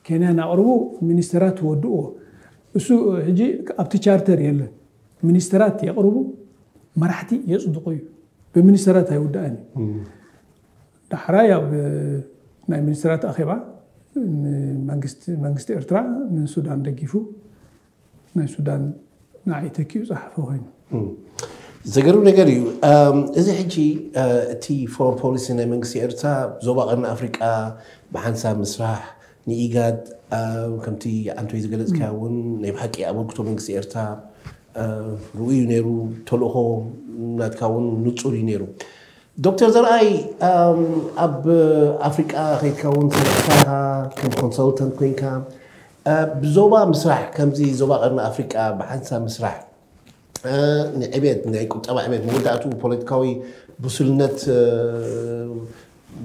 ኬንያን ኣቕርቡ ሚኒስተራት ትወድእዎ እሱ ሕጂ ኣብቲ ቻርተር የለን ሚኒስተራት የቕርቡ መራሕቲ የፅድቑ እዩ ብሚኒስተራት ኣይውዳእን እዩ ዳሕራይ ኣብ ናይ ሚኒስትራት ኣኼባ መንግስቲ ኤርትራ ንሱዳን ደጊፉ ናይ ሱዳን ንዓይ ተኪኡ ጸሓፈ ኮይኑ ዘገርም ነገር እዩ እዚ ሕጂ እቲ ፎረን ፖሊሲ ናይ መንግስቲ ኤርትራ ዞባ ቀርኒ ኣፍሪቃ ብሓንሳብ ምስራሕ ንኢጋድ ከምቲ ኣንቶይ ዝገለጽካዮ እውን ናይ ብሓቂ ኣበርክቶ መንግስቲ ኤርትራ ርኡይ ነይሩ ተልእኾ ናትካ እውን ንጹር እዩ ነይሩ ዶክተር ዘርኣይ ኣብ ኣፍሪቃ ከይድካ እውን ሰሪሕካ ኢኻ ከም ኮንሰልተንት ኮይንካ ብዞባ ምስራሕ ከምዚ ዞባ ቀርኒ ኣፍሪቃ ብሓንሳብ ምስራሕ ንዕቤት ናይ ቁጠባ ዕቤት መወዳእትኡ ፖለቲካዊ ብሱልነት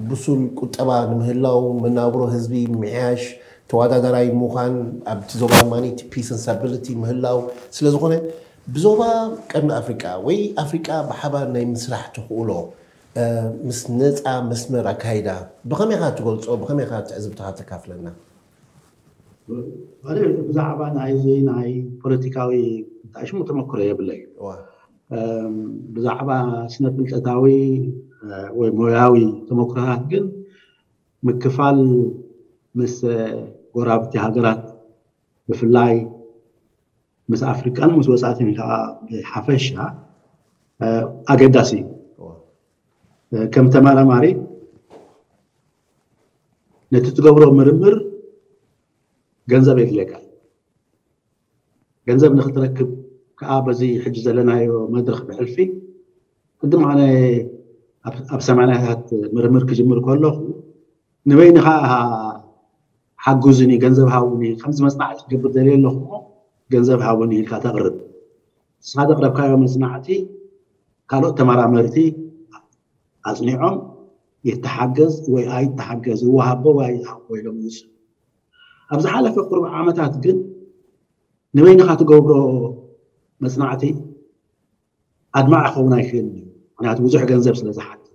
ብሱል ቁጠባ ንምህላው መናብሮ ህዝቢ ምምሕያሽ ተወዳዳራይ ምዃን ኣብቲ ዞባ ድማ ፒስ ን ስታቢሊቲ ምህላው ስለዝኾነ ብዞባ ቀርኒ ኣፍሪቃ ወይ ኣፍሪቃ ብሓባር ናይ ምስራሕ ተኽእሎ ምስ ነፃ መስመር ኣካይዳ ብኸመይ ኢኻ ትገልፆ ብኸመይ ኢኻ ትዕዝብትኻ ተካፍለና ብዛዕባ ናይዚ ናይ ፖለቲካዊ እንታይ ሽሙ ተመክሮ የብለይ ብዛዕባ ስነ ፍልጠታዊ ወይ ሞያዊ ተመክሮታት ግን ምክፋል ምስ ጎራብቲ ሃገራት ብፍላይ ምስ ኣፍሪቃን ምስ ወፃእትን ከዓ ብሓፈሻ ኣገዳሲ እዩ ከም ተመራማሪ ነቲ ትገብሮ ምርምር ገንዘብ የድልየካ ገንዘብ ንክትረክብ ከዓ በዚ ሕጂ ዘለናዮ መድረክ ብሕልፊ ቅድም ኣነ ኣብ ሰማንያታት ምርምር ክጅምር ከለኹ ንበይንኻ ሓጉዝኒ፣ ገንዘብ ሃውኒ፣ ከምዚ መፅናዕቲ ክገብር ደልየ ኣለኹ፣ ገንዘብ ሃውኒ ኢልካ ተቕርብ። ንስኻ ዘቕረብካዮ መፅናዕቲ ካልኦት ተመራመርቲ ኣፅኒዖም ይተሓገዝ ወይ ኣይተሓገዝ፣ ይወሃቦ ወይ ኣይወሃቦ ኢሎም ይውስኑ። ኣብ ዝሓለፈ ቁሩብ ዓመታት ግን ንበይንኻ ትገብሮ መፅናዕቲ ኣድማዕ ክኸውን ኣይክእልን እዩ። ምክንያቱ ብዙሕ ገንዘብ ስለ ዝሓትት።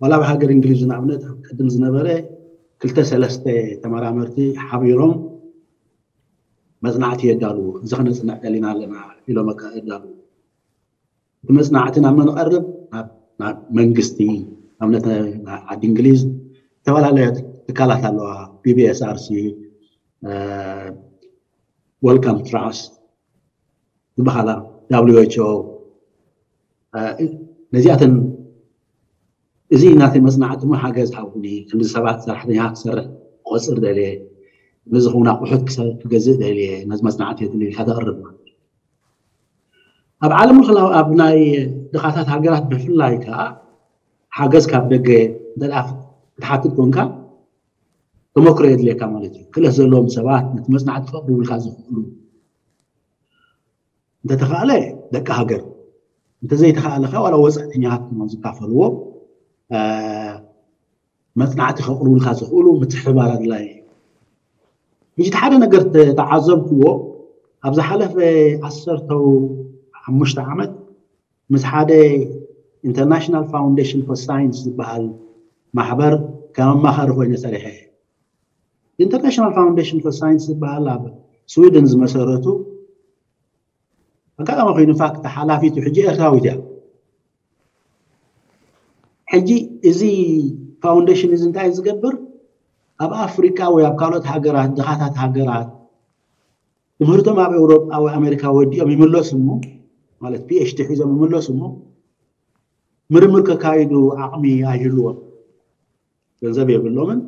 ዋላ ኣብ ሃገር እንግሊዝ ንኣብነት ኣብ ቅድም ዝነበረ ክልተ ሰለስተ ተመራመርቲ ሓቢሮም መፅናዕቲ የዳልዉ። እዚ ከነፅንዕ ደሊና ኣለና ኢሎም በቃ የዳልዉ። እቲ መፅናዕቲ ናብ መን ቀርብ? ናብ መንግስቲ፣ ኣብነት ዓዲ እንግሊዝ ዝተፈላለያ ትካላት ኣለዋ። ቢቢኤስኣርሲ፣ ወልካም ትራስት ዝበሃላ፣ ደብሊው ኤች ኦ፣ ነዚኣተን እዚ ናተይ መፅናዕቲ ሞ ሓገዝ ሃቡኒ፣ ክንዲ ሰባት ሰራሕተኛ ክሰርሕ ቆፅር ደልየ፣ ነዚ ኹን ኣቑሑት ክገዝእ ደልየ፣ ነዚ መፅናዕቲ የድሊ ኢልካ ተቕርብ ማለት እዩ። ኣብ ዓለም ለኸ ኣብ ናይ ድኻታት ሃገራት ብፍላይ ከዓ ሓገዝ ካብ ደገ እንተ ክትሓትት ኮንካ ተመክሮ የድልየካ ማለት እዩ። ክእለት ዘለዎም ሰባት ነቲ መፅናዕቲ ክቕርቡልካ ዝኽእሉ እንተተኻእለ ደቂ ሃገር፣ እንተዘይተኻእለ ከዓ ዋላ ወፃእተኛታት ድማ ዝካፈልዎ መፅናዕቲ ከቕርቡልካ ዝኽእሉ ምትሕብባር ኣድላይ እዩ። ሕጂ ሓደ ነገር ተዓዘብክዎ፣ ኣብ ዝሓለፈ ዓሰርተ ሓሙሽተ ዓመት ምስ ሓደ ኢንተርናሽናል ፋውንዴሽን ፎር ሳይንስ ዝበሃል ማሕበር ከም ኣማኻሪ ኮይነ ሰሪሐ። ኢንተርናሽናል ፋውንዴሽን ፎር ሳይንስ ዝበሃል ኣብ ስዊድን ዝመሰረቱ ኣጋጣሚ ኮይኑ ፋክት ሓላፊቱ ሕጂ ኤርትራዊት እያ። ሕጂ እዚ ፋውንዴሽን እዚ እንታይ ዝገብር? ኣብ ኣፍሪቃ ወይ ኣብ ካልኦት ሃገራት፣ ድኻታት ሃገራት ትምህርቶም ኣብ ኤውሮጳ ወይ ኣሜሪካ ወዲኦም ይምለሱ እሞ፣ ማለት ፒኤችዲ ሒዞም ይምለሱ እሞ ምርምር ከካይዱ ዓቕሚ ኣይህልዎም። ገንዘብ የብሎምን፣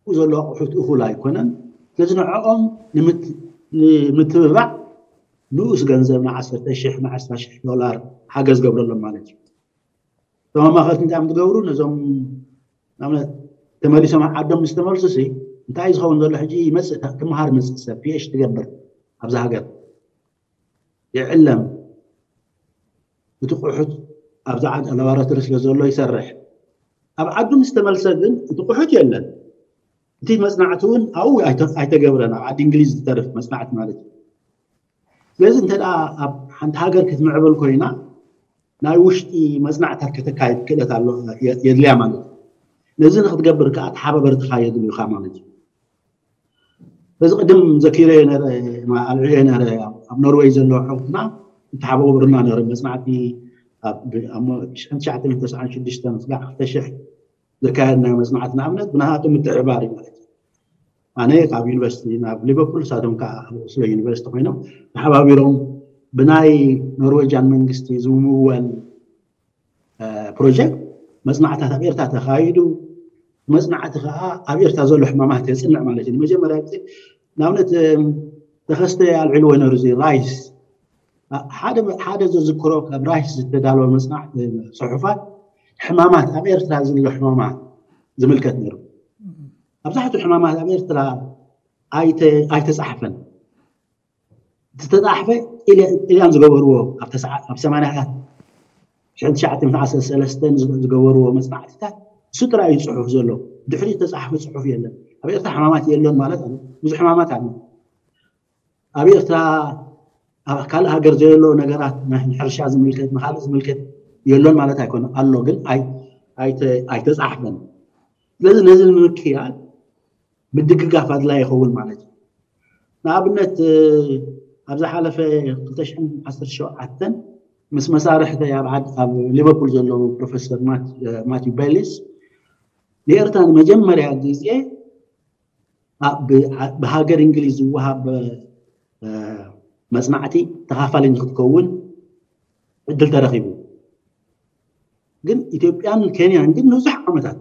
ብኡ ዘሎ ኣቑሑት እኹል ኣይኮነን። ስለዚ ንዕኦም ንምትብባዕ ንኡስ ገንዘብ ንዓሰርተ ሽሕ ንዓስራ ሽሕ ዶላር ሓገዝ ገብረሎም ማለት እዩ። እቶም ኣማኸርቲ እንታይ እዮም ትገብሩ? ነዞም ንኣብነት ተመሊሶም ዓዶም ምስ ተመልሱ ሲ እንታይ ዝኸውን ዘሎ? ሕጂ ይመፅእ፣ ክመሃር ይመፅእ ሰብ ፒኤች ትገብር ኣብዛ ሃገር ይዕለም። እቲ ቁሑት ኣብዛ ዓድ ላባራቶሪ ስለ ዘሎ ይሰርሕ። ኣብ ዓዱ ምስ ተመልሰ ግን እቲ ቁሑት የለን። እቲ መፅናዕቲ እውን ኣብኡ ኣይተገብረን፣ ኣብ ዓዲ እንግሊዝ ዝተርፍ መፅናዕቲ ማለት እዩ። ስለዚ እንተ ኣብ ሓንቲ ሃገር ክትምዕብል ኮይና ናይ ውሽጢ መፅናዕታት ከተካየድ ክእለት ኣሎ የድልያ ማለት እዩ። ነዚ ንክትገብር ከዓ ተሓባበርትኻ የድልዩካ ማለት እዩ። በዚ ቅድም ዘኪረ ነረ ኣልዕየ ነረ ኣብ ኖርወይ ዘለዎ ሓውትና ይተሓባበሩና ነረ መፅናዕቲ ሽዱሽተ ስጋዕ ክልተ ሽሕ ዘካየድናዮ መፅናዕቲ ንኣብነት ብናሃቱ ምትሕባር እዩ ማለት እዩ። ኣነ ካብ ዩኒቨርሲቲ ናብ ሊቨርፑል፣ ንሳቶም ከዓ ኣብ ኦስሎ ዩኒቨርሲቲ ኮይኖም ተሓባቢሮም ብናይ ኖርዌጃን መንግስቲ ዝምወል ፕሮጀክት መፅናዕታት ኣብ ኤርትራ ተኻይዱ። መፅናዕቲ ከዓ ኣብ ኤርትራ ዘሎ ሕማማት የፅንዕ ማለት እዩ። ንመጀመርያ ግዜ ንኣብነት ተኸስተ ኣልዒልዎ ነሩ እዚ ራይስ ሓደ ዘዝክሮ ካብ ራይስ ዝተዳለወ መፅናዕቲ ፅሑፋት ሕማማት ኣብ ኤርትራ ዘሎ ሕማማት ዝምልከት ነሩ። ኣብዛሕቱ ሕማማት ኣብ ኤርትራ ኣይተፃሕፈን። ዝተፃሕፈ ኢልያን ዝገበርዎ ኣብ ሰማንያታት ሽሕን ትሽዓተ ሚእትን ዓሰርተ ሰለስተን ዝገበርዎ መፅናዕትታት እሱ ጥራይ እዩ ፅሑፍ ዘሎ። ድሕሪ ዝተፃሕፈ ፅሑፍ የለን። ኣብ ኤርትራ ሕማማት የለን ማለት ብዙሕ ሕማማት ኣሎ። ኣብ ኤርትራ ኣብ ካልእ ሃገር ዘየሎ ነገራት ንሕርሻ ዝምልከት ንካልእ ዝምልከት የሎን ማለት ኣይኮነ ኣሎ፣ ግን ኣይተፃሕፈን። ስለዚ ነዚ ንምክያድ ምድግጋፍ ኣድላይ ይኸውን ማለት እዩ። ንኣብነት ኣብ ዝሓለፈ ክልተ ሽሕን ዓሰርተ ሸውዓተን ምስ መሳርሕተይ ኣብ ዓድ ኣብ ሊቨርፑል ዘለዉ ፕሮፌሰር ማትዩ ቤሊስ ንኤርትራ ንመጀመርያ ግዜ ብሃገር እንግሊዝ ዝወሃብ መፅናዕቲ ተኻፋሊ ንክትከውን ዕድል ተረኺቡ። ግን ኢትዮጵያን ኬንያን ግን ንብዙሕ ዓመታት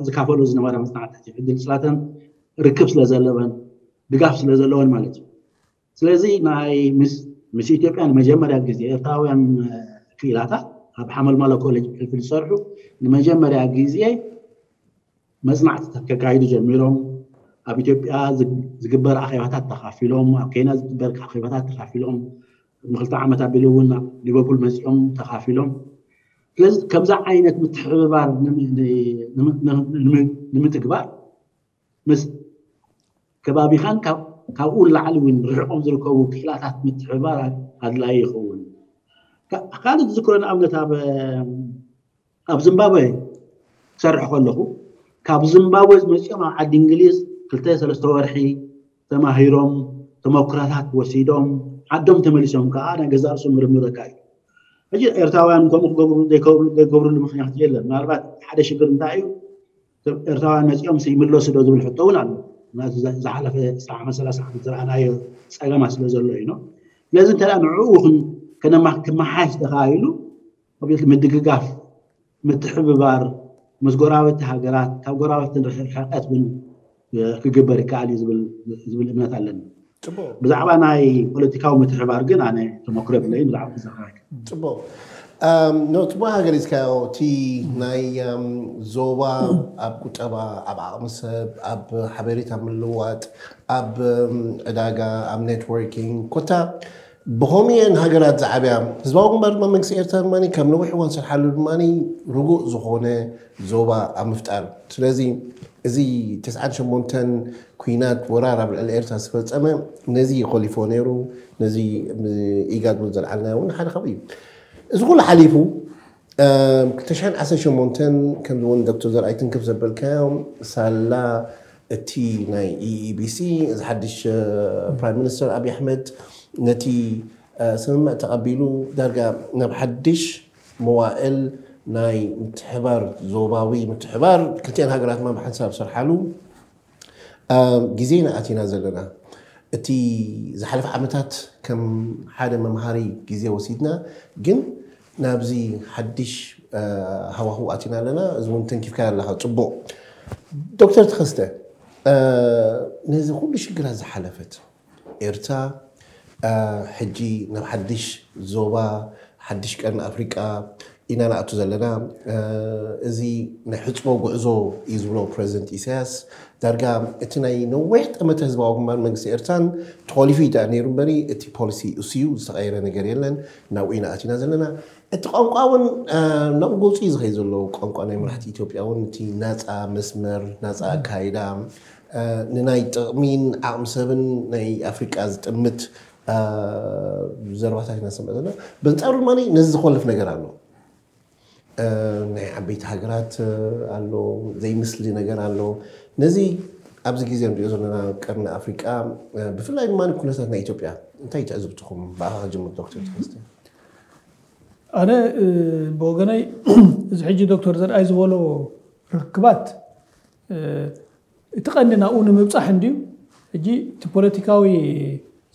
ዝካፈሎ ዝነበረ መፅናዕትታት እዩ። ዕድል ስላተን ርክብ ስለ ዘለወን ድጋፍ ስለ ዘለወን ማለት እዩ። ስለዚ ናይ ምስ ምስ ኢትዮጵያ ንመጀመርያ ግዜ ኤርትራውያን ክኢላታት ኣብ ሓመልማሎ ኮሌጅ ሕልፊ ዝሰርሑ ንመጀመርያ ግዜ መፅናዕትታት ከካይዱ ጀሚሮም። ኣብ ኢትዮጵያ ዝግበር ኣኼባታት ተኻፊሎም፣ ኣብ ኬንያ ዝግበር ኣኼባታት ተኻፊሎም፣ ንክልተ ዓመት ኣቢሉ እውን ናብ ሊቨርፑል መፂኦም ተኻፊሎም። ስለዚ ከምዚ ዓይነት ምትሕብባር ንምትግባር ምስ ከባቢኻን ካብኡ ንላዕሊ እውን ርሕቆም ዝርከቡ ክኢላታት ምትሕብባር ኣድላይ ይኸውን። ካልእ ዝዝክሮ ንኣብነት ኣብ ኣብ ዝምባብወ ክሰርሕ ከለኹ ካብ ዝምባብወ ዝመፅኦም ኣብ ዓዲ እንግሊዝ ክልተ ሰለስተ ወርሒ ተማሂሮም ተመኩራታት ወሲዶም ዓዶም ተመሊሶም ከዓ ናይ ገዛእ ርእሶም ምርምር ኣካይዱ። ሕጂ ኤርትራውያን ከምኡ ክገብሩ ዘይገብርሉ ምክንያት የለን። ምናልባት ሓደ ሽግር እንታይ እዩ? ኤርትራውያን መፂኦም ይምለሱ ዶ ዝብል ሕቶ እውን ኣሎ። ዝሓለፈ ዓመት ሰላሳ ዓመት ዝረኣናዮ ፀገማት ስለ ዘሎ እዩ። ስለዚ እንተ ንዕኡ ክመሓሽ ተኻኢሉ ምድግጋፍ፣ ምትሕብባር ምስ ጎረባብቲ ሃገራት ካብ ጎረባብቲ ርሕቀት እውን ክግበር ይከኣል እዩ ዝብል እምነት ኣለኒ። ብዛዕባ ናይ ፖለቲካዊ ምትሕባር ግን ኣነ ተመክሮ የብለይን። ብዛዕባ ተዘራረብ ፅቡቅ ጽቡቅ ሃገር ኢዝካዮ እቲ ናይ ዞባ ኣብ ቁጠባ ኣብ ዓቕሚ ሰብ ኣብ ሓበሬታ ምልዋጥ ኣብ ዕዳጋ ኣብ ኔትወርኪንግ ኮታ ብኸምኡ እየን ሃገራት ዝዓብያ። ህዝባዊ ግንባር ድማ መንግስቲ ኤርትራ ድማ ካብ ነዊሕ እዋን ዝሰርሓሉ ድማ ርጉእ ዝኾነ ዞባ ኣብ ምፍጣር። ስለዚ እዚ ተስዓን ሸሞንተን ኲናት ወራር ኣብ ልዕሊ ኤርትራ ዝተፈጸመ ነዚ እዩ ኮሊፎ ነይሩ። ነዚ ኢጋድ እውን ዘልዓልናዮ እውን ሓደ ካብኡ እዩ። እዚ ኩሉ ሓሊፉ ክልተ ሽሕን ዓሰርተ ሸሞንተን ከምዚ እውን ዶክተር ዘርኣይ ትንክፍ ዘበልካዮ ሳላ እቲ ናይ ኢኢቢሲ እዚ ሓድሽ ፕራይም ሚኒስተር ኣብይ ኣሕመድ ነቲ ስምምዕ ተቐቢሉ ዳርጋ ናብ ሓድሽ መዋእል ናይ ምትሕባር ዞባዊ ምትሕባር ክልቲኣን ሃገራት ማ ብሓንሳብ ዝሰርሓሉ ግዜ ኢና ኣቲና ዘለና። እቲ ዝሓለፈ ዓመታት ከም ሓደ መምሃሪ ግዜ ወሲድና፣ ግን ናብዚ ሓድሽ ሃዋህው ኣቲና ኣለና። እዚ እውን ተንኪፍካ ኣለኻ ጽቡቕ። ዶክተር ተኸስተ፣ ነዚ ኩሉ ሽግራት ዝሓለፈት ኤርትራ ሕጂ ናብ ሓድሽ ዞባ ሓድሽ ቀርኒ ኣፍሪቃ ኢና ንኣቱ ዘለና። እዚ ናይ ሕፅቦ ጉዕዞ እዩ ዝብሎ ፕረዚደንት ኢሳያስ። ዳርጋ እቲ ናይ ነዊሕ ጠመተ ህዝባዊ ግንባር መንግስቲ ኤርትራን ተኾሊፉ እዩ ደኣ ነይሩ እምበሪ እቲ ፖሊሲ እሱ እዩ ዝተቐየረ ነገር የለን። ናብኡ ኢና ኣቲና ዘለና። እቲ ቋንቋ እውን ናብ ጎፁ እዩ ዝኸይ ዘሎ። ቋንቋ ናይ መራሕቲ ኢትዮጵያ እውን እቲ ናፃ መስመር ናፃ ኣካይዳ ንናይ ጥቕሚን ዓቕሚ ሰብን ናይ ኣፍሪቃ ዝጥምት ዘረባታት ኢና ንሰምዕ ዘለና። በንጻሩ ድማ ነዚ ዝኮልፍ ነገር ኣሎ። ናይ ዓበይቲ ሃገራት ኣሎ፣ ዘይምስሊ ነገር ኣሎ። ነዚ ኣብዚ ግዜ ንሪኦ ዘለና ቀርኒ ኣፍሪቃ ብፍላይ ድማ ኩነታት ናይ ኢትዮጵያ እንታይ ትዕዝብትኹም? ብኣኻ ክጅምር ዶክተር ተኸስተ። ኣነ ብወገነይ እዚ ሕጂ ዶክተር ዘርኣይ ዝበሎ ርክባት እቲ ቀንዲ ናብኡ ንምብፃሕ እንድዩ። ሕጂ እቲ ፖለቲካዊ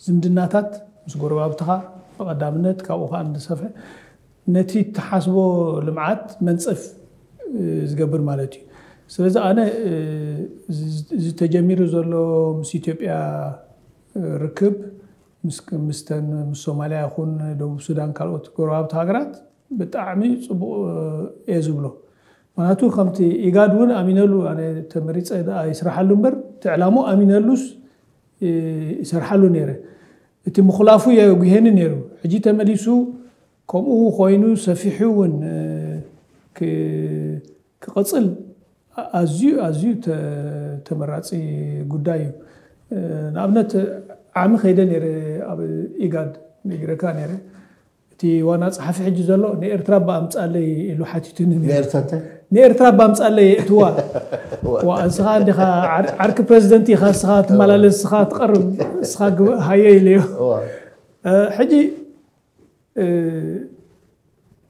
ዝምድናታት ምስ ጎረባብትኻ ብቐዳምነት ካብኡ ከዓ እንድሰፍሐ ነቲ እትሓስቦ ልምዓት መንፀፍ ዝገብር ማለት እዩ። ስለዚ ኣነ እዚ ተጀሚሩ ዘሎ ምስ ኢትዮጵያ ርክብ ምስተን ምስ ሶማልያ ይኹን ደቡብ ሱዳን ካልኦት ጎረባብቲ ሃገራት ብጣዕሚ ፅቡቕ እየ ዝብሎ። ምክንያቱ ከምቲ ኢጋድ እውን ኣሚነሉ ኣነ ተመሪፀ ይስራሓሉ እምበር እቲ ዕላሙ ኣሚነሉስ ይሰርሓሉ ነይረ። እቲ ምኹላፉ የጉሄኒ ነይሩ። ሕጂ ተመሊሱ ከምኡ ኮይኑ ሰፊሑ እውን ክቕፅል ኣዝዩ ኣዝዩ ተመራፂ ጉዳይ እዩ። ንኣብነት ዓሚ ከይደ ነይረ ኣብ ኢጋድ ነጊረካ ነይረ። እቲ ዋና ፀሓፊ ሕጂ ዘሎ ንኤርትራ ባ ኣምፃለይ ኢሉ ሓቲቱኒ ነይሩ። ንኤርትራ እንታይ? ንኤርትራ ባ ኣምፃለይ የእትዋ። ዋ፣ ንስኻ እንዲኻ ዓር- ዓርኪ ፕረዚደንት ኢኻ፣ ንስኻ ትመላለስ፣ ንስኻ ትቐርብ፣ ንስኻ ግበ- ሃየ ኢለዮ። ዋ። እ፣ ሕጂ እ፣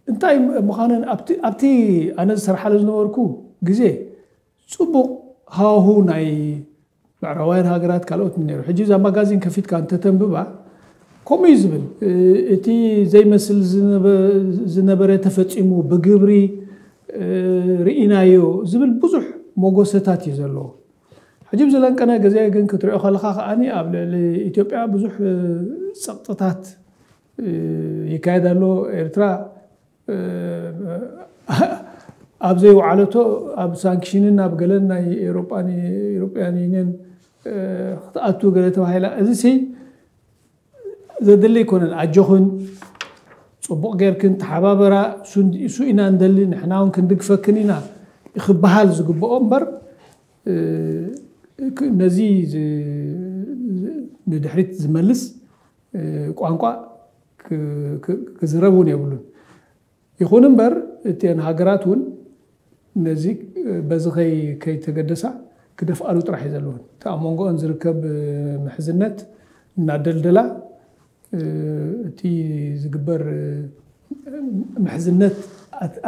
እንታይ ምዃነን ኣብቲ ኣብቲ ኣነ ዝሰርሓሉ ዝነበርኩ ግዜ ፅቡቕ ሃዋሁ ናይ ምዕራባውያን ሃገራት ካልኦት ነይሩ። ሕጂ እዛ ማጋዚን ከፊትካ እንተተንብባ ከምኡ እዩ ዝብል። እቲ ዘይመስል ዝነበረ ተፈፂሙ ብግብሪ ርኢናዮ ዝብል ብዙሕ መጎሰታት እዩ ዘለዎ። ሕጂ ብዝለንቀነ ግዜ ግን ክትሪኦ ከለኻ ከኣኒ ኣብ ልዕሊ ኢትዮጵያ ብዙሕ ጸቕጥታት ይካየድ ኣሎ። ኤርትራ ኣብ ዘይወዓለቶ ኣብ ሳንክሽንን ኣብ ገለን ናይ ኤሮፓን ኢሮፓያን ዩኒየን ክትኣቱ ገለ ተባሂላ። እዚ ሲ ዘድሊ ኣይኮነን። ኣጆኽን ጽቡቕ ጌርክን ተሓባበራ፣ እሱ ኢና እንደሊ፣ ንሕና እውን ክንድግፈክን ኢና ክበሃል ዝግብኦ እምበር ነዚ ንድሕሪት ዝመልስ ቋንቋ ክዝረብ እውን የብሉን። ይኹን እምበር እተን ሃገራት እውን ነዚ በዚ ከይተገደሳ ክደፍኣሉ ጥራሕ እዩ ዘለዎን። እቲ ኣብ መንጎኦን ዝርከብ ምሕዝነት እናደልደላ እቲ ዝግበር ምሕዝነት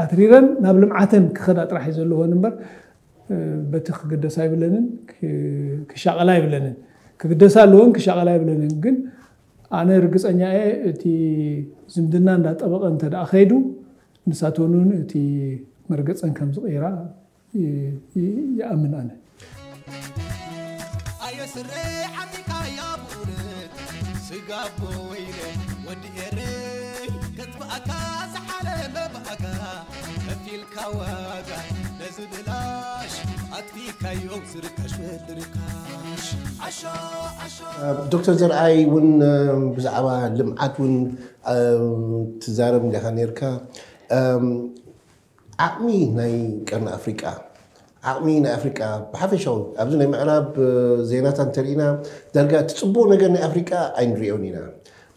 ኣትሪረን ናብ ልምዓተን ክኸዳ ጥራሕ እዩ ዘለዎን እምበር በቲ ክግደሳ ይብለንን ክሻቐላ ይብለንን። ክግደሳ ኣለዎን ክሻቐላ ይብለንን። ግን ኣነ ርግፀኛ እየ እቲ ዝምድና እንዳጠበቐ እንተ ደኣ ከይዱ ንሳተውን እቲ መርገፀን ከም ዝቕይራ ይኣምን ኣነ። ኣየ ስረ ሓሚካ ያ ብኡነት ስጋቦ ወይለ ወዲ ኤረይ ከጥፍኣካ ዝሓለመ ብኣጋ ከፊልካ ዋጋ ነዚ ብላሽ ኣጥፊእካዮ ዝርካሽ ወዲ ርካሽ ዓሾ ዓሾ ዶክተር ዘርኣይ እውን ብዛዕባ ልምዓት እውን ትዛረብ እንዲኻ ነርካ። ዓቕሚ ናይ ቀርኒ ኣፍሪቃ ዓቕሚ ናይ ኣፍሪቃ ብሓፈሻዊ ኣብዚ ናይ ምዕራብ ዜናታት እንተሪኢና ዳርጋ እቲ ፅቡቕ ነገር ናይ ኣፍሪቃ ኣይንሪኦን ኢና።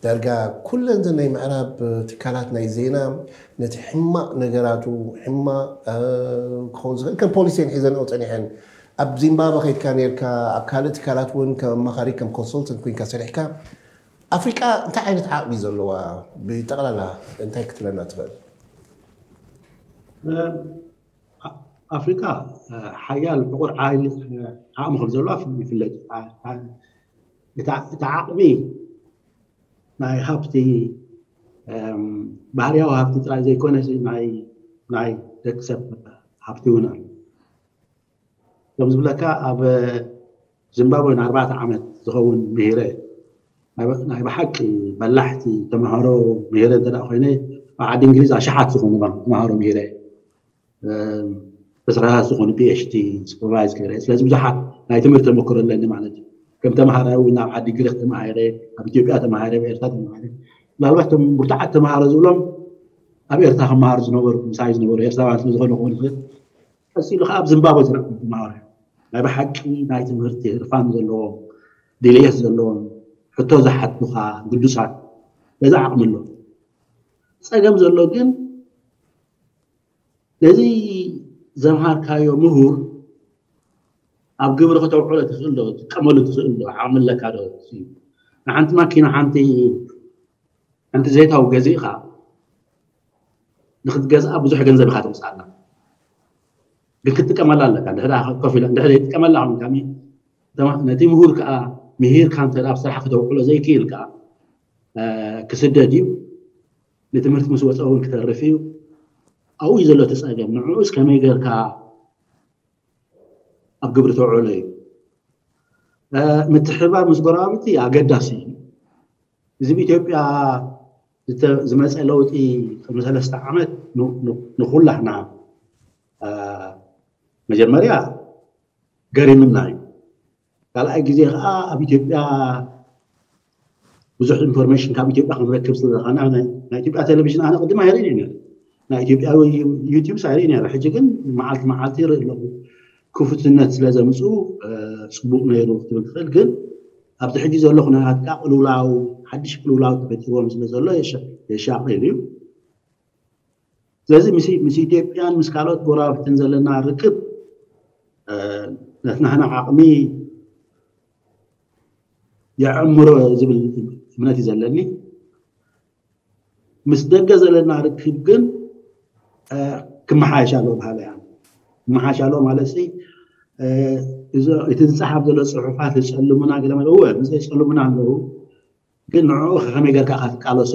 ዳርጋ ኩለን ናይ ምዕራብ ትካላት ናይ ዜና ነቲ ሕማቕ ነገራቱ ሕማቕ ክኸውን ዝኽእል ከም ፖሊሲ ሒዘንኦ ፀኒሐን። ኣብ ዚምባብወ ከይድካ ነርካ ኣብ ካልእ ትካላት እውን ከም ኣማኻሪ ከም ኮንሰልተንት ኮይንካ ሰሪሕካ ኣፍሪቃ እንታይ ዓይነት ዓቕሚ ዘለዋ ብጠቕላላ እንታይ ክትብለና ትኽእል? ኣፍሪቃ ሓያል ዕቑር ዓቕሚ ከም ዘለዋ ይፍለጥ። እቲ ዓቕሚ ናይ ሃብቲ ባህርያዊ ሃብቲ ጥራይ ዘይኮነ ናይ ደቂ ሰብ ሃብቲ እውን ኣሎ። ከም ዝብለካ ኣብ ዚምባብወ ንኣርባዕተ ዓመት ዝኸውን ምሂረ ናይ ብሓቂ በላሕቲ ተምሃሮ ምሂረ እንተ ኮይነ ኣብ ዓዲ እንግሊዝ ኣሽሓት ዝኾኑ ተምሃሮ ምሂረ ዕስራታት ዝኾኑ ፒኤችዲ ሱፐርቫይዝ ገይረ። ስለዚ ብዙሓት ናይ ትምህርቲ ተመክሮ ኣለኒ ማለት እዩ። ከም ተምሃራይ እውን ኣብ ዓዲ ግሪክ ተማሂረ፣ ኣብ ኢትዮጵያ ተማሂረ፣ ኣብ ኤርትራ ተማሂረ። ምናልባት እቶም ብርቱዓት ተምሃሮ ዝብሎም ኣብ ኤርትራ ክመሃሩ ዝነበሩ ምሳይ ዝነበሩ ኤርትራውያን ስለ ዝኾኑ ክኾኑ ይኽእል። ቀፂሉ ከዓ ኣብ ዚምባብወ ዝረኣኹ ተምሃሮ ናይ ብሓቂ ናይ ትምህርቲ ህርፋን ዘለዎም ድልየት ዘለዎም ሕቶ ዝሓቱኻ ግዱሳት በዛ ዓቕሚ ኣሎ። ፀገም ዘሎ ግን ነዚ ዘምሃርካዮ ምሁር ኣብ ግብሪ ከተውዕሎ ትኽእል ዶ? ትጥቀመሉ ትኽእል ዶ? ዓቕሚ ኣለካ ዶ? ንሓንቲ ማኪና ሓንቲ ሓንቲ ዘይታዊ ገዚእኻ ንክትገዝኣ ብዙሕ ገንዘብ ኢኻ ተምፅኣላ። ግን ክትጥቀመላ ኣለካ። ድሕዳ ኮፍ ኢላ እንድሕር ዘይጥቀመላ ነቲ ምሁር ከዓ ምሂርካ እንተ ኣብ ስራሕ ክተውዕሎ ዘይክእል ከዓ ክስደድ እዩ። ንትምህርቲ ምስ ወፀ እውን ክተርፍ እዩ። ኣብኡ እዩ ዘሎ እቲ ፀገም። ንዕኡስ ከመይ ጌርካ ኣብ ግብሪ ተውዕሎ እዩ። ምትሕባር ምስ ጎረባብቲ ኣገዳሲ እዩ። እዚ ብኢትዮጵያ ዝመፀ ለውጢ ቅድሚ ሰለስተ ዓመት ንኩላህና መጀመርያ ገሪምና እዩ። ካልኣይ ግዜ ከዓ ኣብ ኢትዮጵያ ብዙሕ ኢንፎርሜሽን ካብ ኢትዮጵያ ክንረክብ ስለዝኸና ናይ ኢትዮጵያ ቴሌቪዥን ኣነ ቅድም ኣይርእን እዩ። ናይ ኢትዮጵያ ዩቲዩብ ኣይርእን እየ። ሕጂ ግን መዓልቲ መዓልቲ ይርኢ ኣለኹ። ክፉትነት ስለ ዘምፅኡ ፅቡቅ ነይሩ ክትብል ትኽእል። ግን ኣብዚ ሕጂ ዘሎ ኩነታት ከዓ ቅልውላው ሓድሽ ቅልውላው ተፈጢርዎም ስለ ዘሎ የሻቅል እዩ። ስለዚ ምስ ኢትዮጵያን ምስ ካልኦት ጎረባብትን ዘለና ርክብ ነቲ ናህና ዓቕሚ የዕምሮ ዝብል እምነት እዩ ዘለኒ። ምስ ደገ ዘለና ርክብ ግን ክመሓየሽ ኣለዎ በሃሊ እያ። ክመሓየሽ ኣለዎ ማለት ሲ እቲ ዝፀሓፍ ዘሎ ፅሑፋት የፀልሙና ገለ ማለት እወ ምስ የፀልሙና ኣለዉ። ግን ንዕኡ ከመይ ጌርካ ኢኻ ትቃለሶ?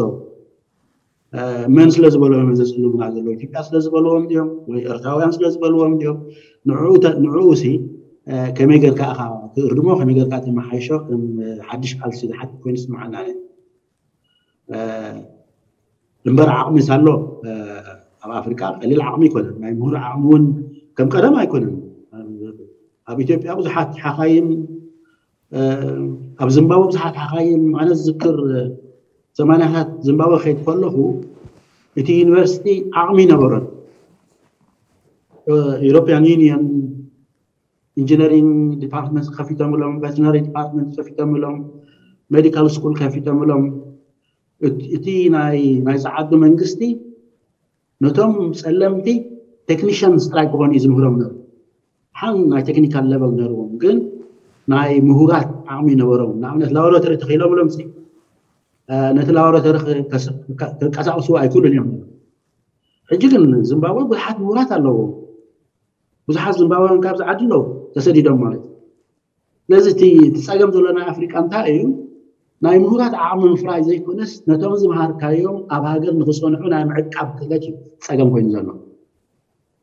መን ስለ ዝበልዎም እዮም ዘፅልሙና ዘለዉ? ኢትዮጵያ ስለ ዝበልዎም ድዮም ወይ ኤርትራውያን ስለ ዝበልዎም ድዮም? ንዕኡ ሲ ከመይ ጌርካ ኢኻ ትእርድሞ፣ ከመይ ጌርካ ተመሓይሾ፣ ከም ሓድሽ ቃልሲ ዝሓትት ኮይኑ ይስምዓና። እምበር ዓቕሚ ሳሎ ኣብ ኣፍሪቃ ቀሊል ዓቕሚ ኣይኮነን። ናይ ምሁር ዓቕሚ እውን ከም ቀደም ኣይኮነን። ኣብ ኢትዮጵያ ብዙሓት ሓኻይም፣ ኣብ ዝምባብወ ብዙሓት ሓኻይም፣ ኣነ ዝዝክር ሰማንያታት ዝምባብወ ከይድ ከለኹ እቲ ዩኒቨርሲቲ ዓቕሚ ይነበሮን። European Union ኢንጂነሪንግ ዲፓርትመንት ከፊቶምሎም፣ ቨተርነሪ ዲፓርትመንት ከፊቶምሎም፣ ሜዲካል ስኩል ከፊቶምሎም። እቲ ናይ ናይ ጸዓዱ መንግስቲ ነቶም ጸለምቲ ቴክኒሽያንስ ጥራይ ክኾኑ እዩ ዝምህሮም ነሩ። ሓን ናይ ቴክኒካል ሌቨል ነርዎም፣ ግን ናይ ምሁራት ዓቕሚ ነበሮም። ንኣብነት ላቦራቶሪ ተኺሎምሎም ሲ ነቲ ላቦራቶሪ ክንቀሳቀስዎ ኣይክእሉን እዮም። ሕጂ ግን ዚምባብወ ብዙሓት ምሁራት ኣለዎ። ብዙሓት ዚምባብወን ካብዚ ዓዲ ኣለዉ ተሰዲዶም ማለት እዩ። ስለዚ እቲ እቲ ጸገም ዘሎ ናይ ኣፍሪቃ እንታይ እዩ? ናይ ምሁራት ዓቕሚ ምፍራይ ዘይኮነስ ነቶም ዝምሃርካዮም ኣብ ሃገር ንኽጸንሑ ናይ ምዕቃብ ክእለት እዩ ጸገም ኮይኑ ዘሎ።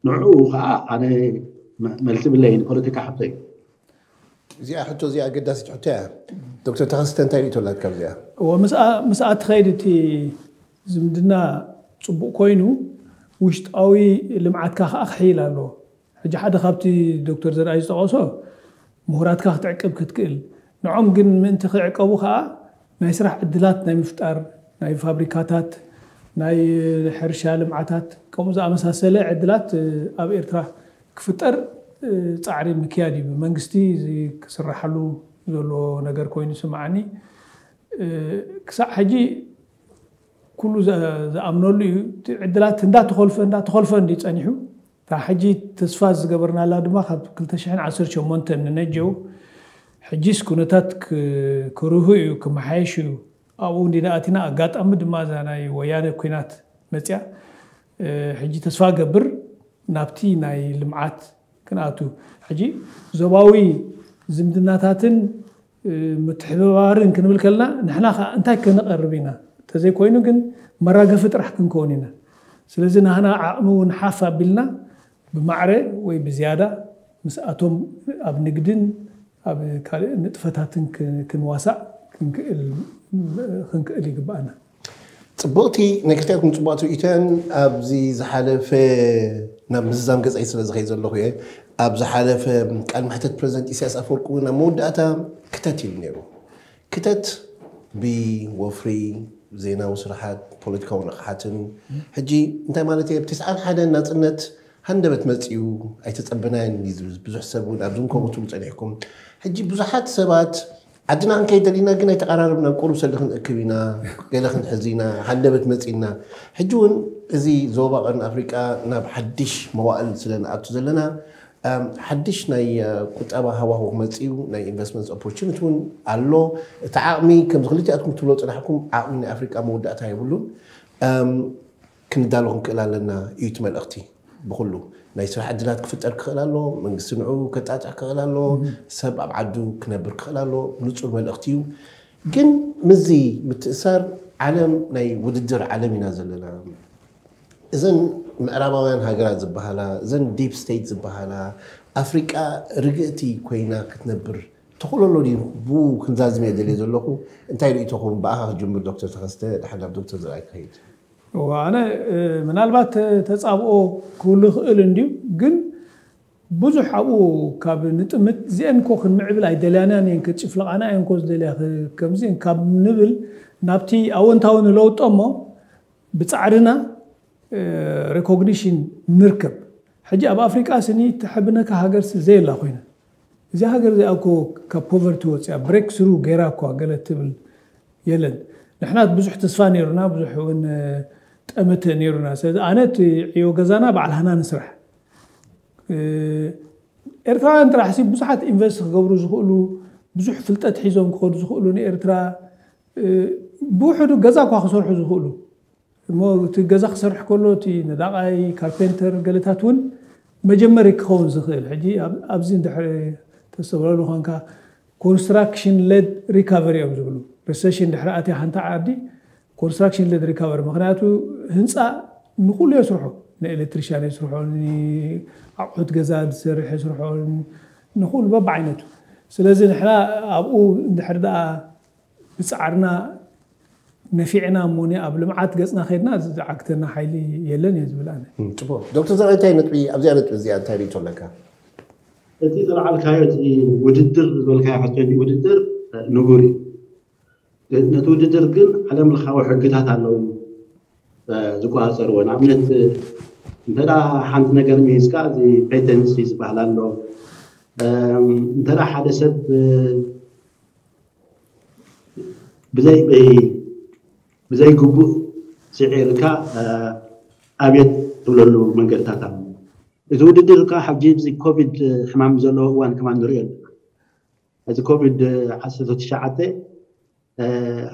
ንዕኡ ከዓ ኣነ መ- መልሲ ብለይ ንፖለቲካ ሕቶ እዩ። እዚኣ ሕቶ እዚኣ ኣገዳሲት ሕቶ እያ። ዶክተር ተኸስተ እንታይ ርእቶ ኣላትካ ኣብዚኣ? እዎ ምስኣ ምስኣ ትኸይድ እቲ ዝምድና ፅቡቅ ኮይኑ ውሽጣዊ ልምዓትካ ከዓ ክሕይል ኣለዎ። ሕጂ ሓደ ካብቲ ዶክተር ዘርኣይ ዝጠቐሶ ምሁራትካ ክትዕቅብ ክትክእል፣ ንዖም ግን ምእንቲ ክዕቀቡ ከዓ ናይ ስራሕ ዕድላት ናይ ምፍጣር ናይ ፋብሪካታት ናይ ሕርሻ ልምዓታት ከምኡ ዝኣመሳሰለ ዕድላት ኣብ ኤርትራ ክፍጠር ፃዕሪ ምክያድ እዩ። ብመንግስቲ እዚ ክስራሓሉ ዘሎ ነገር ኮይኑ ይስምዓኒ። ክሳዕ ሕጂ ኩሉ ዝኣምነሉ እዩ። እቲ ዕድላት እንዳተኾልፈ እንዳተኾልፈ እንዲ ፀኒሑ እታ ሕጂ ተስፋ ዝገበርናላ ድማ ካብ ክልተ ሽሕን ዓሰርተ ሸሞንተን ንነጀው ሕጂስ ኩነታት ክርሁ እዩ ክመሓየሽ እዩ። ኣብኡ እንዲና ኣቲና ኣጋጣሚ ድማ እዛ ናይ ወያነ ኩናት መፅያ ሕጂ ተስፋ ገብር ናብቲ ናይ ልምዓት ክንኣቱ ሕጂ ዞባዊ ዝምድናታትን ምትሕብባርን ክንብል ከለና ንሕና ከዓ እንታይ ከነቐርብ ኢና? እንተዘይኮይኑ ግን መራገፊ ጥራሕ ክንከውን ኢና። ስለዚ ናህና ዓቕሚ እውን ሓፍ ኣቢልና ብማዕረ ወይ ብዝያዳ ምስኣቶም ኣብ ንግድን ኣብ ካልእ ንጥፈታትን ክንዋሳእ ክንክእል ይግባኣና። ፅቡቕቲ ናይ ክልቲኣትኩም ፅቡቕቲ ርእቶያን። ኣብዚ ዝሓለፈ ናብ ምዝዛም ገፀይ ስለ ዝኸይ ዘለኹ እየ። ኣብ ዝሓለፈ ቃል መሕተት ፕረዚደንት ኢሳያስ ኣፈወርቂ እውን ኣብ መወዳእታ ክተት ኢሉ ነይሩ። ክተት ብወፍሪ ዜናዊ ስራሓት ፖለቲካዊ ንቕሓትን ሕጂ እንታይ ማለት እየ ብትስዓን ሓደን ናፅነት ሃንደበት መፅኡ ኣይተፀበናዮን እዩ ዝብል ብዙሕ ሰብ እውን ኣብዚ እውን ከምኡ ትብሉ ፀኒሕኩም። ሕጂ ብዙሓት ሰባት ዓድና ክንከይድ ደሊና ግን ኣይተቐራረብናን። ቁሩብ ሰልዲ ክንእክብ ኢና፣ ገለ ክንሕዝ ኢና፣ ሃንደበት መፂእና። ሕጂ እውን እዚ ዞባ ቀርኒ ኣፍሪቃ ናብ ሓድሽ መዋእል ስለ ንኣቱ ዘለና ሓድሽ ናይ ቁጠባ ሃዋሁ ክመፅእ እዩ። ናይ ኢንቨስትመንት ኦፖርቹኒቲ እውን ኣሎ። እቲ ዓቕሚ ከምዚ ክልቲኣትኩም ትብሎ ፅናሕኩም ዓቕሚ ናይ ኣፍሪቃ መወዳእታ የብሉን። ክንዳሎ ክንክእል ኣለና እዩ እቲ መልእኽቲ። ብኩሉ ናይ ስራሕ ዕድላት ክፍጠር ክኽእል ኣሎ። መንግስቲ ንዑ ከጣጥዕ ክኽእል ኣሎ። ሰብ ኣብ ዓዱ ክነብር ክኽእል ኣሎ። ንፁር መልእኽቲ እዩ። ግን ምዚ ምትእሳር ዓለም ናይ ውድድር ዓለም ኢና ዘለና። እዘን ምዕራባውያን ሃገራት ዝበሃላ እዘን ዲፕ ስቴት ዝበሃላ ኣፍሪቃ ርግእቲ ኮይና ክትነብር ተኽእሎ ኣሎ ድዩ? ብኡ ክንዛዝም እየ ደልየ ዘለኹ። እንታይ ርእቶኹም? ብኣኻ ክጅምር ዶክተር ተኸስተ፣ ድሓር ናብ ዶክተር ዘርኣይ ክኸይድ። እወ፣ ኣነ ምናልባት ተፃብኦ ክህሉ ይኽእል እንድዩ፣ ግን ብዙሕ ኣብኡ ካብ ንጥምት እዚአን እኮ ክንምዕብል ኣይደልያናን እየን፣ ክጭፍልቓና እየን እኮ ዝደልያ ከምዚ ካብ ንብል ናብቲ ኣወንታዊ ንለውጦ እሞ ብፃዕርና ሬኮግኒሽን ንርከብ። ሕጂ ኣብ ኣፍሪቃ ስኒ ትሕብነካ ሃገር ዘየላ ኮይና እዚኣ ሃገር እዚኣ እኮ ካብ ፖቨርቲ ወፅያ ብሬክ ስሩ ገይራ እኳ ገለ ትብል የለን። ንሕና ብዙሕ ተስፋ ነይሩና፣ ብዙሕ እውን ጠመተ ነይሩና። ስለዚ ኣነ እቲ ዕዮ ገዛና ባዕልሃና ንስራሕ። ኤርትራውያን ጥራሕሲ ብዙሓት ኢንቨስት ክገብሩ ዝኽእሉ ብዙሕ ፍልጠት ሒዞም ክኸዱ ዝኽእሉ ንኤርትራ ብውሕዱ ገዛ እኳ ክሰርሑ ዝኽእሉ እሞ እቲ ገዛ ክሰርሕ ከሎ እቲ ነዳቓይ ካርፔንተር ገለታት እውን መጀመሪ ክኸውን ዝኽእል ሕጂ ኣብዚ እንድሕር ተስተብለሉ ኮንካ ኮንስትራክሽን ሌድ ሪካቨሪ እዮም ዝብሉ። ሪሰሽን ድሕሪ ኣትያ ሓንቲ ዓዲ ኮንስትራክሽን ሌድ ሪካቨሪ ምክንያቱ ህንፃ ንኩሉ የስርሖ፣ ንኤሌክትሪሽያን የስርሖ፣ ኣቑሑት ገዛ ዝሰርሕ የስርሖ፣ ንኽእሉ በብዓይነቱ። ስለዚ ንሕና ኣብኡ እንድሕር ደኣ ብጻዕርና ነፊዕና እሞኒ ኣብ ልምዓት ገጽና ከድና ዝዓግተና ሓይሊ የለን እየ ዝብል ኣነ። ጽቡቕ። ዶክተር ዘርኣይ፣ እንታይ ነጥቢ ኣብዚኣ ነጥቢ እዚኣ እንታይ ርእይቶ ኣለካ? እቲ ዘልዓልካዮ እቲ ውድድር ዝበልካዮ ሕቶ ውድድር ንቡር እዩ። ነቲ ውድድር ግን ዓለም ለኻዊ ሕግታት ኣለዉ ዝቆፃፀርዎ። ንኣብነት እንተ ሓንቲ ነገር ሚሂዝካ እዚ ፔተንሲ ዝበሃል ኣሎ። እንተ ሓደ ሰብ ብዘይ ብዘይ ግቡእ ስዒርካ ኣብየት ትብለሉ መንገድታት ኣሎ። እቲ ውድድር ከዓ ሕጂ እዚ ኮቪድ ሕማም ዘለዎ እዋን ከማን ንሪኦ ኣለና። እዚ ኮቪድ ዓሰርተ ትሽዓተ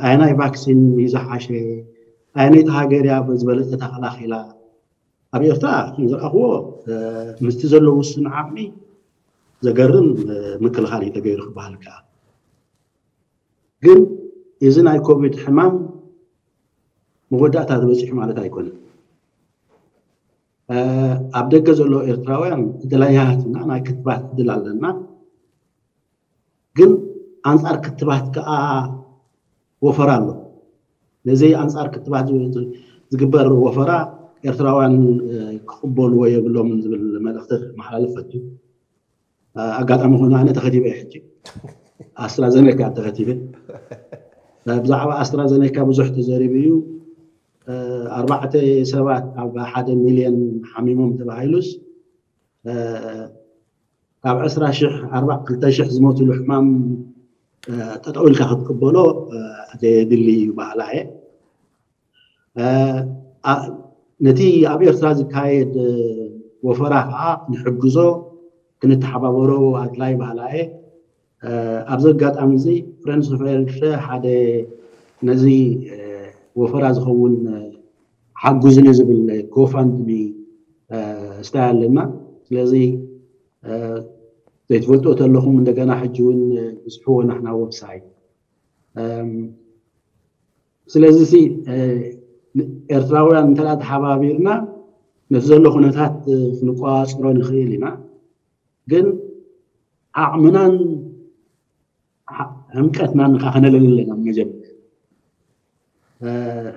ኣየናይ ቫክሲን እዩ ዝሓሸ፣ ኣየነይቲ ሃገር እያ ዝበለፀ ተኸላኺላ? ኣብ ኤርትራ ዝረኣኽዎ ምስቲ ዘሎ ውሱን ዓቕሚ ዘገርም ምክልኻል እዩ ተገይሩ ክበሃል ከኣ። ግን እዚ ናይ ኮቪድ ሕማም መወዳእታ ተበፂሑ ማለት ኣይኮነን። ኣብ ደገ ዘሎ ኤርትራውያን እድለኛታት ኢና፣ ናይ ክትባት እድል ኣለና። ግን ኣንፃር ክትባት ከዓ ወፈራ ኣሎ። ነዚ ኣንፃር ክትባት ዝግበር ወፈራ ኤርትራውያን ክቕበልዎ የብሎምን ዝብል መልእኽቲ ክመሓላለፍ ፈቱ። ኣጋጣሚ ኮይኑ ኣነ ተኸቲበ እየ ሕጂ ኣስትራዘኔካ ተኸቲበ። ብዛዕባ ኣስትራዘኔካ ብዙሕ ተዘሪቡ እዩ። ኣርባዕተ ሰባት ኣብ ሓደ ሚልዮን ሓሚሞም ተባሂሉስ ካብ ዕስራ ሽሕ ኣርባዕተ ክልተ ሽሕ ዝሞትሉ ሕማም ጠጠው ኢልካ ክትቅበሎ ዘየድሊ እዩ በሃላ እየ። ነቲ ኣብ ኤርትራ ዝካየድ ወፈራ ከዓ ክንሕግዞ ክንተሓባበሮ ኣድላይ በሃላ እየ። ኣብዚ ኣጋጣሚ እዚ ፍሬንድስ ኦፍ ኤርትራ ሓደ ነዚ ወፈራ ዝኸውን ሓጉዝኒ ዝብል ጎፋንድሚ ስታይ ኣለና። ስለዚ ዘይትፈልጡ ተለኹም እንደገና ሕጂ እውን ብዝሕዎ ናሕና ወብሳይት። ስለዚ ሲ ኤርትራውያን እንተ ተሓባቢርና ነቲ ዘሎ ኩነታት ክንቆፃፀሮ ንኽእል ኢና። ግን ዓቕምናን ሕምቀትናን ከዓ ከነለሊ ኣለና። መጀመርያ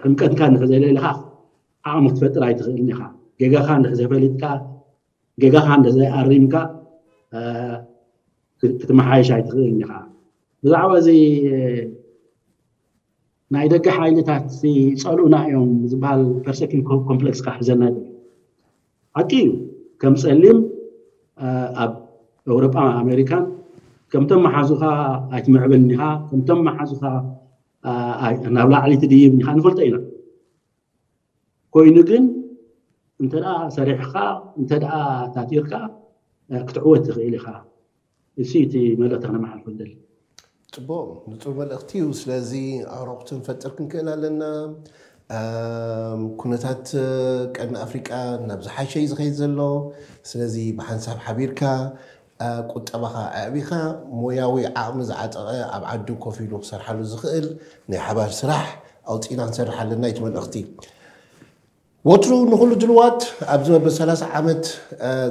ሕምቀትካ እንድሕር ዘየለሊኻ ዓቕሚ ክትፈጥር ኣይትኽእልን ኢኻ። ጌጋኻ እንድሕር ዘፈሊጥካ፣ ጌጋኻ እንድሕር ዘይኣሪምካ ክትመሓየሽ ኣይትኽእልን ኢኻ። ብዛዕባ እዚ ናይ ደገ ሓይልታት ይፀልኡና እዮም ዝበሃል ፐርሰኪን ኮምፕሌክስ ከዓ ሒዘና ይብል። ሓቂ እዩ። ከም ፀሊም ኣብ ኤውሮጳ ኣሜሪካን ከምቶም መሓዙኻ ኣይትምዕብልን ኢኻ፣ ከምቶም መሓዙኻ ናብ ላዕሊ ትድይብ ኢኻ ንፈልጦ ኢና። ኮይኑ ግን እንተ ሰሪሕኻ እንተ ታቲርካ ክትዕወት ትኽእል ኢኻ። እሱ እቲ መልእኽቲ ክነመሓልፎ ንደሊ። ፅቡቕ፣ ንፁር መልእኽቲ እዩ። ስለዚ ኣዕሩኽቲ ክንፈጥር ክንክእል ኣለና። ኩነታት ቀርኒ ኣፍሪቃ ናብ ዝሓሸ እዩ ዝኸይድ ዘሎ። ስለዚ ብሓንሳብ ሓቢርካ ቁጠባኻ ኣዕቢኻ ሞያዊ ዓቕሚ ዝዓጠቐ ኣብ ዓዱ ኮፍ ኢሉ ክሰርሓሉ ዝኽእል ናይ ሓባር ስራሕ ኣውፂእና ክንሰርሕ ኣለና እዩ እቲ መልእኽቲ። ወትሩ ንኹሉ ድልዋት ኣብዚ መበል ሰላሳ ዓመት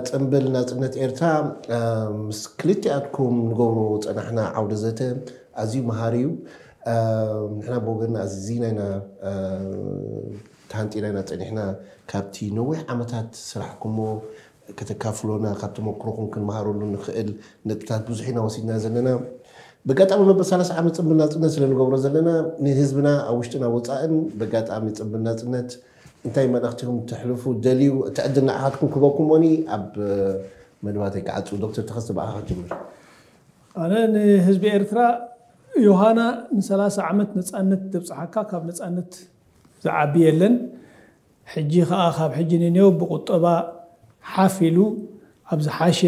ጽምብል ናጽነት ኤርትራ ምስ ክልቲኣትኩም ንገብሮ ጸናሕና ዓውደ ዘተ ኣዝዩ መሃሪ እዩ። ንሕና ብወገንና ኣዚና ኢና ተሃንጢና ኢና ጸኒሕና ካብቲ ነዊሕ ዓመታት ስራሕኩሞ ከተካፍሎና ካብ ተመክሮኹም ክንመሃረሉ ንኽእል ነጥብታት ብዙሕ ኢና ወሲድና ዘለና። በጋጣሚ መበል ሰላሳ ዓመት ጽምብል ናጽነት ስለ ንገብሮ ዘለና ንህዝብና ኣብ ውሽጥን ኣብ ወጻእን በጋጣሚ ጽምብል ናጽነት እንታይ መልእኽቲ ኢኹም ትሕልፉ ደልዩ? እቲ ዕድል ንዓኻትኩም ክበኩም ሞኒ ኣብ መደባተይ ክዓጹ። ዶክተር ተኸስተ ብኣኻ ክጅምር። ኣነ ንህዝቢ ኤርትራ ዮሃና ንሰላሳ ዓመት ነጻነት ተብጽሓካ ካብ ነጻነት ዝዓቢ የለን። ሕጂ ኸኣ ካብ ሕጂ ንኔው ብቁጠባ ሓፍ ኢሉ ኣብ ዝሓሸ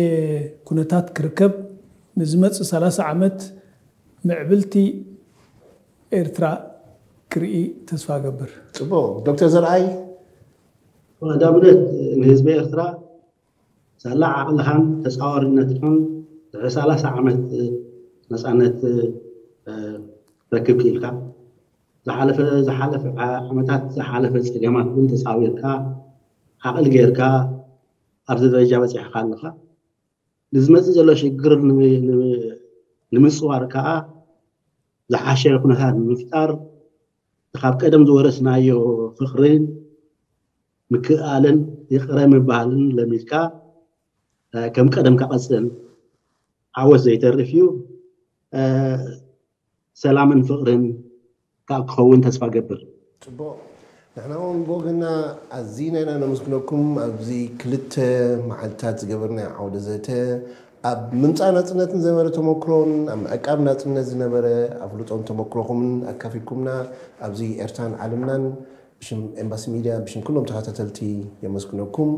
ኩነታት ክርከብ ንዝመጽእ ሰላሳ ዓመት ምዕብልቲ ኤርትራ ክርኢ ተስፋ ገብር። ጽቡቕ። ዶክተር ዘርኣይ? ቀዳምነት ንህዝቢ ኤርትራ ሳላ ዓቕልኻን ተጻዋርነትካን ድሕሪ ሰላሳ ዓመት ነጻነት ረክብ ክኢልካ ዝሓለፈ ዝሓለፈ ዓመታት ዝሓለፈ ጸገማት እውን ተጻዊርካ ዓቕሊ ጌርካ ኣብዚ ደረጃ በጺሕካ ኣለኻ። ንዝመፅእ ዘሎ ሽግር ንምፅዋር ከዓ ዝሓሸ ኩነታት ንምፍጣር ካብ ቀደም ዝወረስናዮ ፍቕርን ምክእኣልን ይቕረ ምባልን ለሚድካ ከም ቀደም ክቐፅል ዓወት ዘይተርፍ እዩ። ሰላምን ፍቕርን ካብ ክኸውን ተስፋ ገብር። ፅቡቕ። ንሕና እውን ብወገና ኣዚና ኢና ነመስግነኩም። ኣብዚ ክልተ መዓልታት ዝገበርናዮ ዓውደ ዘተ ኣብ ምምፃእ ናፅነትን ዝነበረ ተመክሮን ኣብ ምዕቃብ ናፅነት ዝነበረ ኣፍልጦን ተመክሮኹምን ኣካፊልኩምና ኣብዚ ኤርትራን ዓለምናን ብሽም ኤምባሲ ሚድያ ብሽም ኩሎም ተኸታተልቲ የመስግነኩም።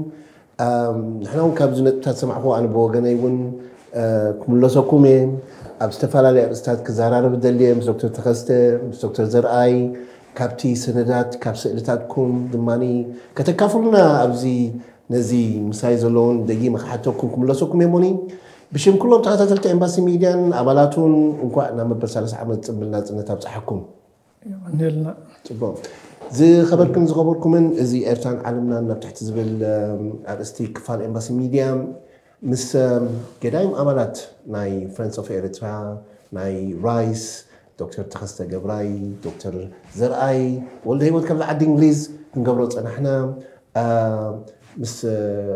ንሕና እውን ካብዚ ነጥብታት ሰማዕኹ ኣነ ብወገነይ እውን ክምለሰኩም እየ። ኣብ ዝተፈላለዩ ኣርእስታት ክዘራረብ ደልየ ምስ ዶክተር ተኸስተ ምስ ዶክተር ዘርኣይ ካብቲ ሰነዳት ካብ ስእልታትኩም ድማ ከተካፍሉና ኣብዚ ነዚ ምሳይ ዘለውን ደጊመ ክሓተኩም ክምለሰኩም እየ። ሞኒ ብሽም ኩሎም ተኸታተልቲ ኤምባሲ ሚድያን ኣባላቱን እንኳዕ ናብ መበል ሰላሳ ዓመት ፅምብል ናፅነት ኣብፀሓኩም። የቐንየልና። ፅቡቕ። ዝኸበርክን ዝኸበርኩምን እዚ ኤርትራን ዓለምናን ናብ ትሕቲ ዝብል ኣርእስቲ ክፋል ኤምባሲ ሚድያ ምስ ገዳይም ኣባላት ናይ ፍሬንድስ ኦፍ ኤርትራ ናይ ራይስ ዶክተር ተኸስተ ገብራይ፣ ዶክተር ዘርኣይ ወልደ ህይወት ካብዚ ዓዲ እንግሊዝ ክንገብሮ ፀናሕና። ምስ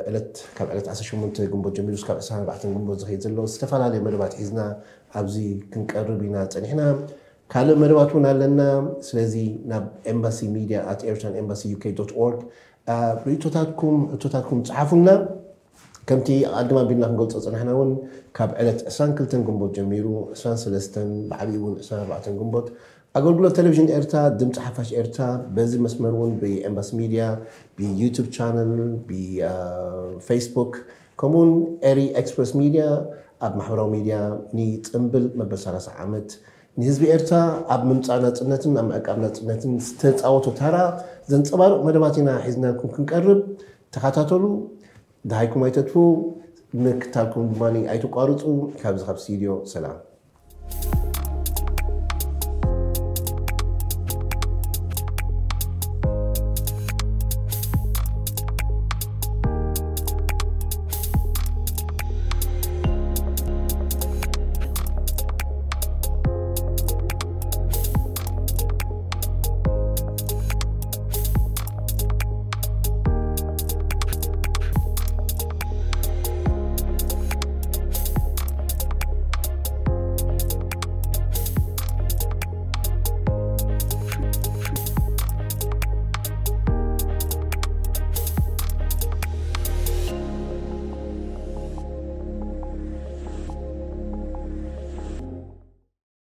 ዕለት ካብ ዕለት ዓሰርተ ሸሞንተ ግንቦት ጀሚሩ ስካብ ዕስራን ኣርባዕተን ግንቦት ዝኸይድ ዘሎ ዝተፈላለየ መደባት ሒዝና ኣብዚ ክንቀርብ ኢና ፀኒሕና። ካልእ መደባት እውን ኣለና። ስለዚ ናብ ኤምባሲ ሚድያ ኣት ኤርትራን ኤምባሲ ዩ ኬ ዶት ኦርግ ርእቶታትኩም ሕቶታትኩም ፀሓፉልና። ከምቲ ኣቐድም ኣቢልና ክንገልፆ ፀናሕና እውን ካብ ዕለት ዕስራን ክልተን ግንቦት ጀሚሩ ዕስራን ሰለስተን ብዓብዪ እውን ዕስራን ኣርባዕተን ግንቦት ኣገልግሎት ቴሌቪዥን ኤርትራ ድምፂ ሓፋሽ ኤርትራ በዚ መስመር እውን ብኤምባሲ ሚድያ ብዩቱብ ቻነል ብፌስቡክ ከምኡውን ኤሪ ኤክስፕረስ ሚድያ ኣብ ማሕበራዊ ሚድያ ንፅምብል መበል ሰላሳ ዓመት ንህዝቢ ኤርትራ ኣብ ምምፃእ ናፅነትን ኣብ ምዕቃብ ናፅነትን ዝተፃወቶ ታራ ዘንፀባርቕ መደባት ኢና ሒዝናልኩም ክንቀርብ። ተኸታተሉ። ደሃይኩም ኣይተጥፉ። ምክታልኩም ድማ ኣይትቋርፁ። ካብዚ ካብ ስቱድዮ ሰላም።